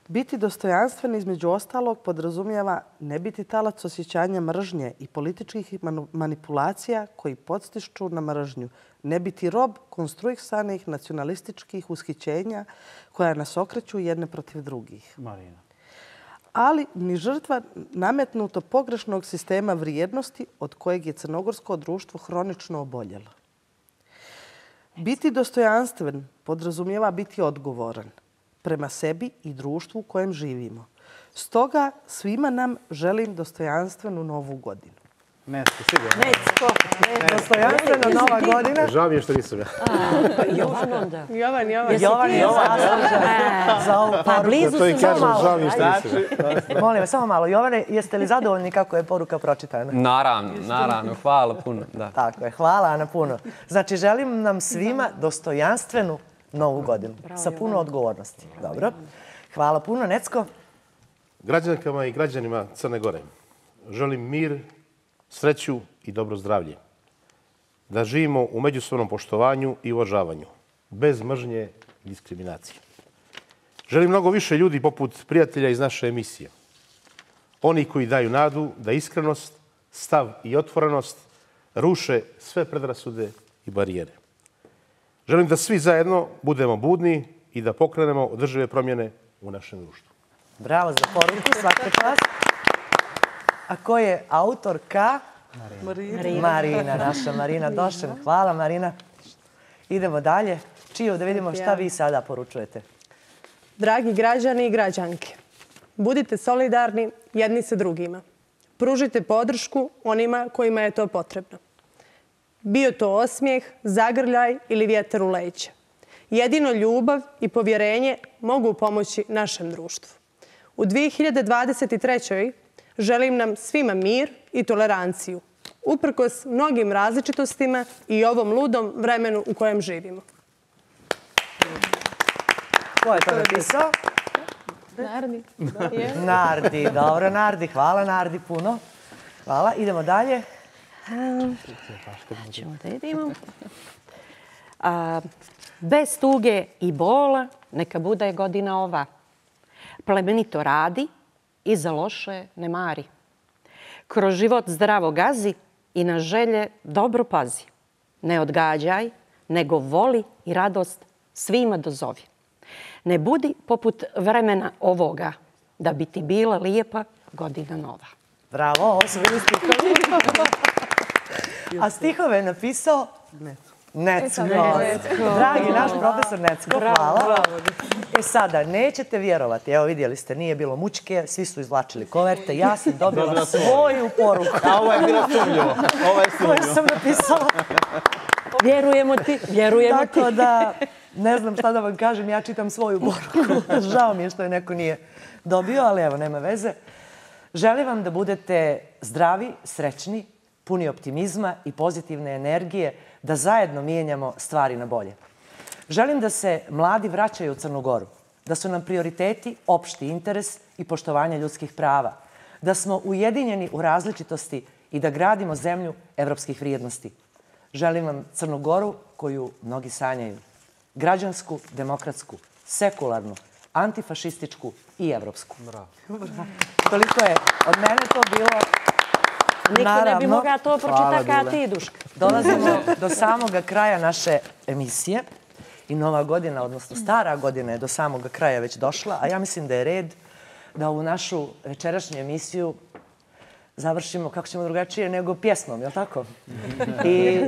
Biti dostojanstven između ostalog podrazumijeva ne biti talac osjećanja mržnje i političkih manipulacija koji podstiču na mržnju. Ne biti rob konstruisanih nacionalističkih ushićenja koja nas okreću jedne protiv drugih. Marina. Ali ni žrtva nametnuto pogrešnog sistema vrijednosti od kojeg je crnogorsko društvo hronično oboljelo. Biti dostojanstven podrazumijeva biti odgovoran prema sebi i društvu u kojem živimo. Stoga svima nam želim dostojanstvenu novu godinu. Necko, sigurno. Dostojanstvena nova godina. Žao mi je što nisam ja. Jovan onda. Jovan. Jovan za ovu Pa blizu To i su kažem, malo. žao mi je što nisam ja. Molim vas, samo malo. Jovane, jeste li zadovoljni kako je poruka pročitana? Naravno. Hvala puno. Da. Tako je. Hvala, Ana, puno. Znači, želim nam svima dostojanstvenu novu godinu. Sa puno odgovornosti. Dobro. Hvala puno. Necko? Građankama i građanima Crne Gore želim mir, sreću i dobro zdravlje. Da živimo u međusobnom poštovanju i uvažavanju, bez mržnje i diskriminacije. Želim mnogo više ljudi poput prijatelja iz naše emisije. Oni koji daju nadu da iskrenost, stav i otvorenost ruše sve predrasude i barijere. Želim da svi zajedno budemo budni i da pokrenemo održive promjene u našem društvu. Bravo za poruku, svaka čast. A ko je autorka? Marina, naša Marina Došen. Hvala, Marina. Idemo dalje. Čiju, da vidimo šta vi sada poručujete. Dragi građani i građanke, budite solidarni jedni sa drugima. Pružite podršku onima kojima je to potrebno. Bio to osmijeh, zagrljaj ili vjetar u leđa. Jedino ljubav i povjerenje mogu pomoći našem društvu. U 2023. želim nam svima mir i toleranciju, uprkos mnogim različitostima i ovom ludom vremenu u kojem živimo. Ko je to napisao? Nardi. Nardi, dobro Nardi. Hvala Nardi puno. Hvala. Idemo dalje. Ćemo da idemo. Bez tuge i bola neka bude godina ova. Plemenito radi i za loše ne mari. Kroz život zdravo gazi i na želje dobro pazi. Ne odgađaj, nego voli i radost svima dozovi. Ne budi poput vremena ovoga, da bi ti bila lijepa godina nova. Bravo, ovo su bili stihovi. A stihove je napisao Necko. Dragi naš profesor Necko, hvala. E sada, nećete vjerovati, evo vidjeli ste, nije bilo mučke, svi su izvlačili koverte, ja sam dobila svoju poruku. A ovo je bilo sumnjivo. Koju sam napisala. Vjerujemo ti. Tako da, ne znam šta da vam kažem, ja čitam svoju poruku. Žao mi je što je neko nije dobio, ali evo, nema veze. Želim vam da budete zdravi, srećni, puni optimizma i pozitivne energije, da zajedno mijenjamo stvari na bolje. Želim da se mladi vraćaju u Crnu Goru, da su nam prioriteti opšti interes i poštovanje ljudskih prava, da smo ujedinjeni u različitosti i da gradimo zemlju evropskih vrijednosti. Želim vam Crnu Goru koju mnogi sanjaju. Građansku, demokratsku, sekularnu, antifašističku i evropsku. Toliko je od mene to bilo. Niko ne bi mogao to pročitati kada ti, Duška. Dolazimo do samoga kraja naše emisije i nova godina, odnosno stara godina je do samoga kraja već došla, a ja mislim da je red da ovu našu večerašnju emisiju završimo, kako ćemo drugačije, nego pjesmom, je li tako? I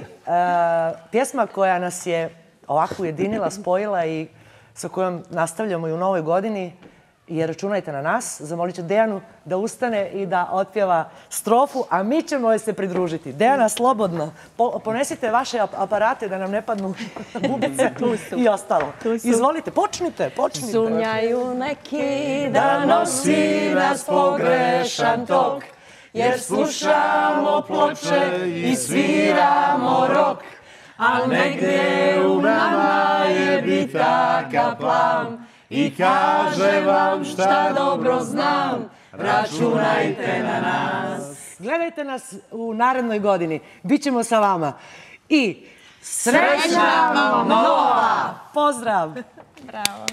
pjesma koja nas je ovako ujedinila, spojila i sa kojom nastavljamo i u novoj godini je Računajte na nas. Zamolit ću Dejanu da ustane i da otpjeva strofu, a mi ćemo joj se pridružiti. Dejana, slobodno. Ponesite vaše aparate da nam ne padnu bubice i ostalo. Izvolite, počnite. Sumnjaju neki da nosi nas pogrešan tok, jer slušamo ploče i sviramo rok, a negdje u nama je bitaka plan. I kaže vam šta dobro znam, računajte na nas. Gledajte nas u narednoj godini. Bićemo sa vama. I srećna vam nova! Pozdrav! Bravo.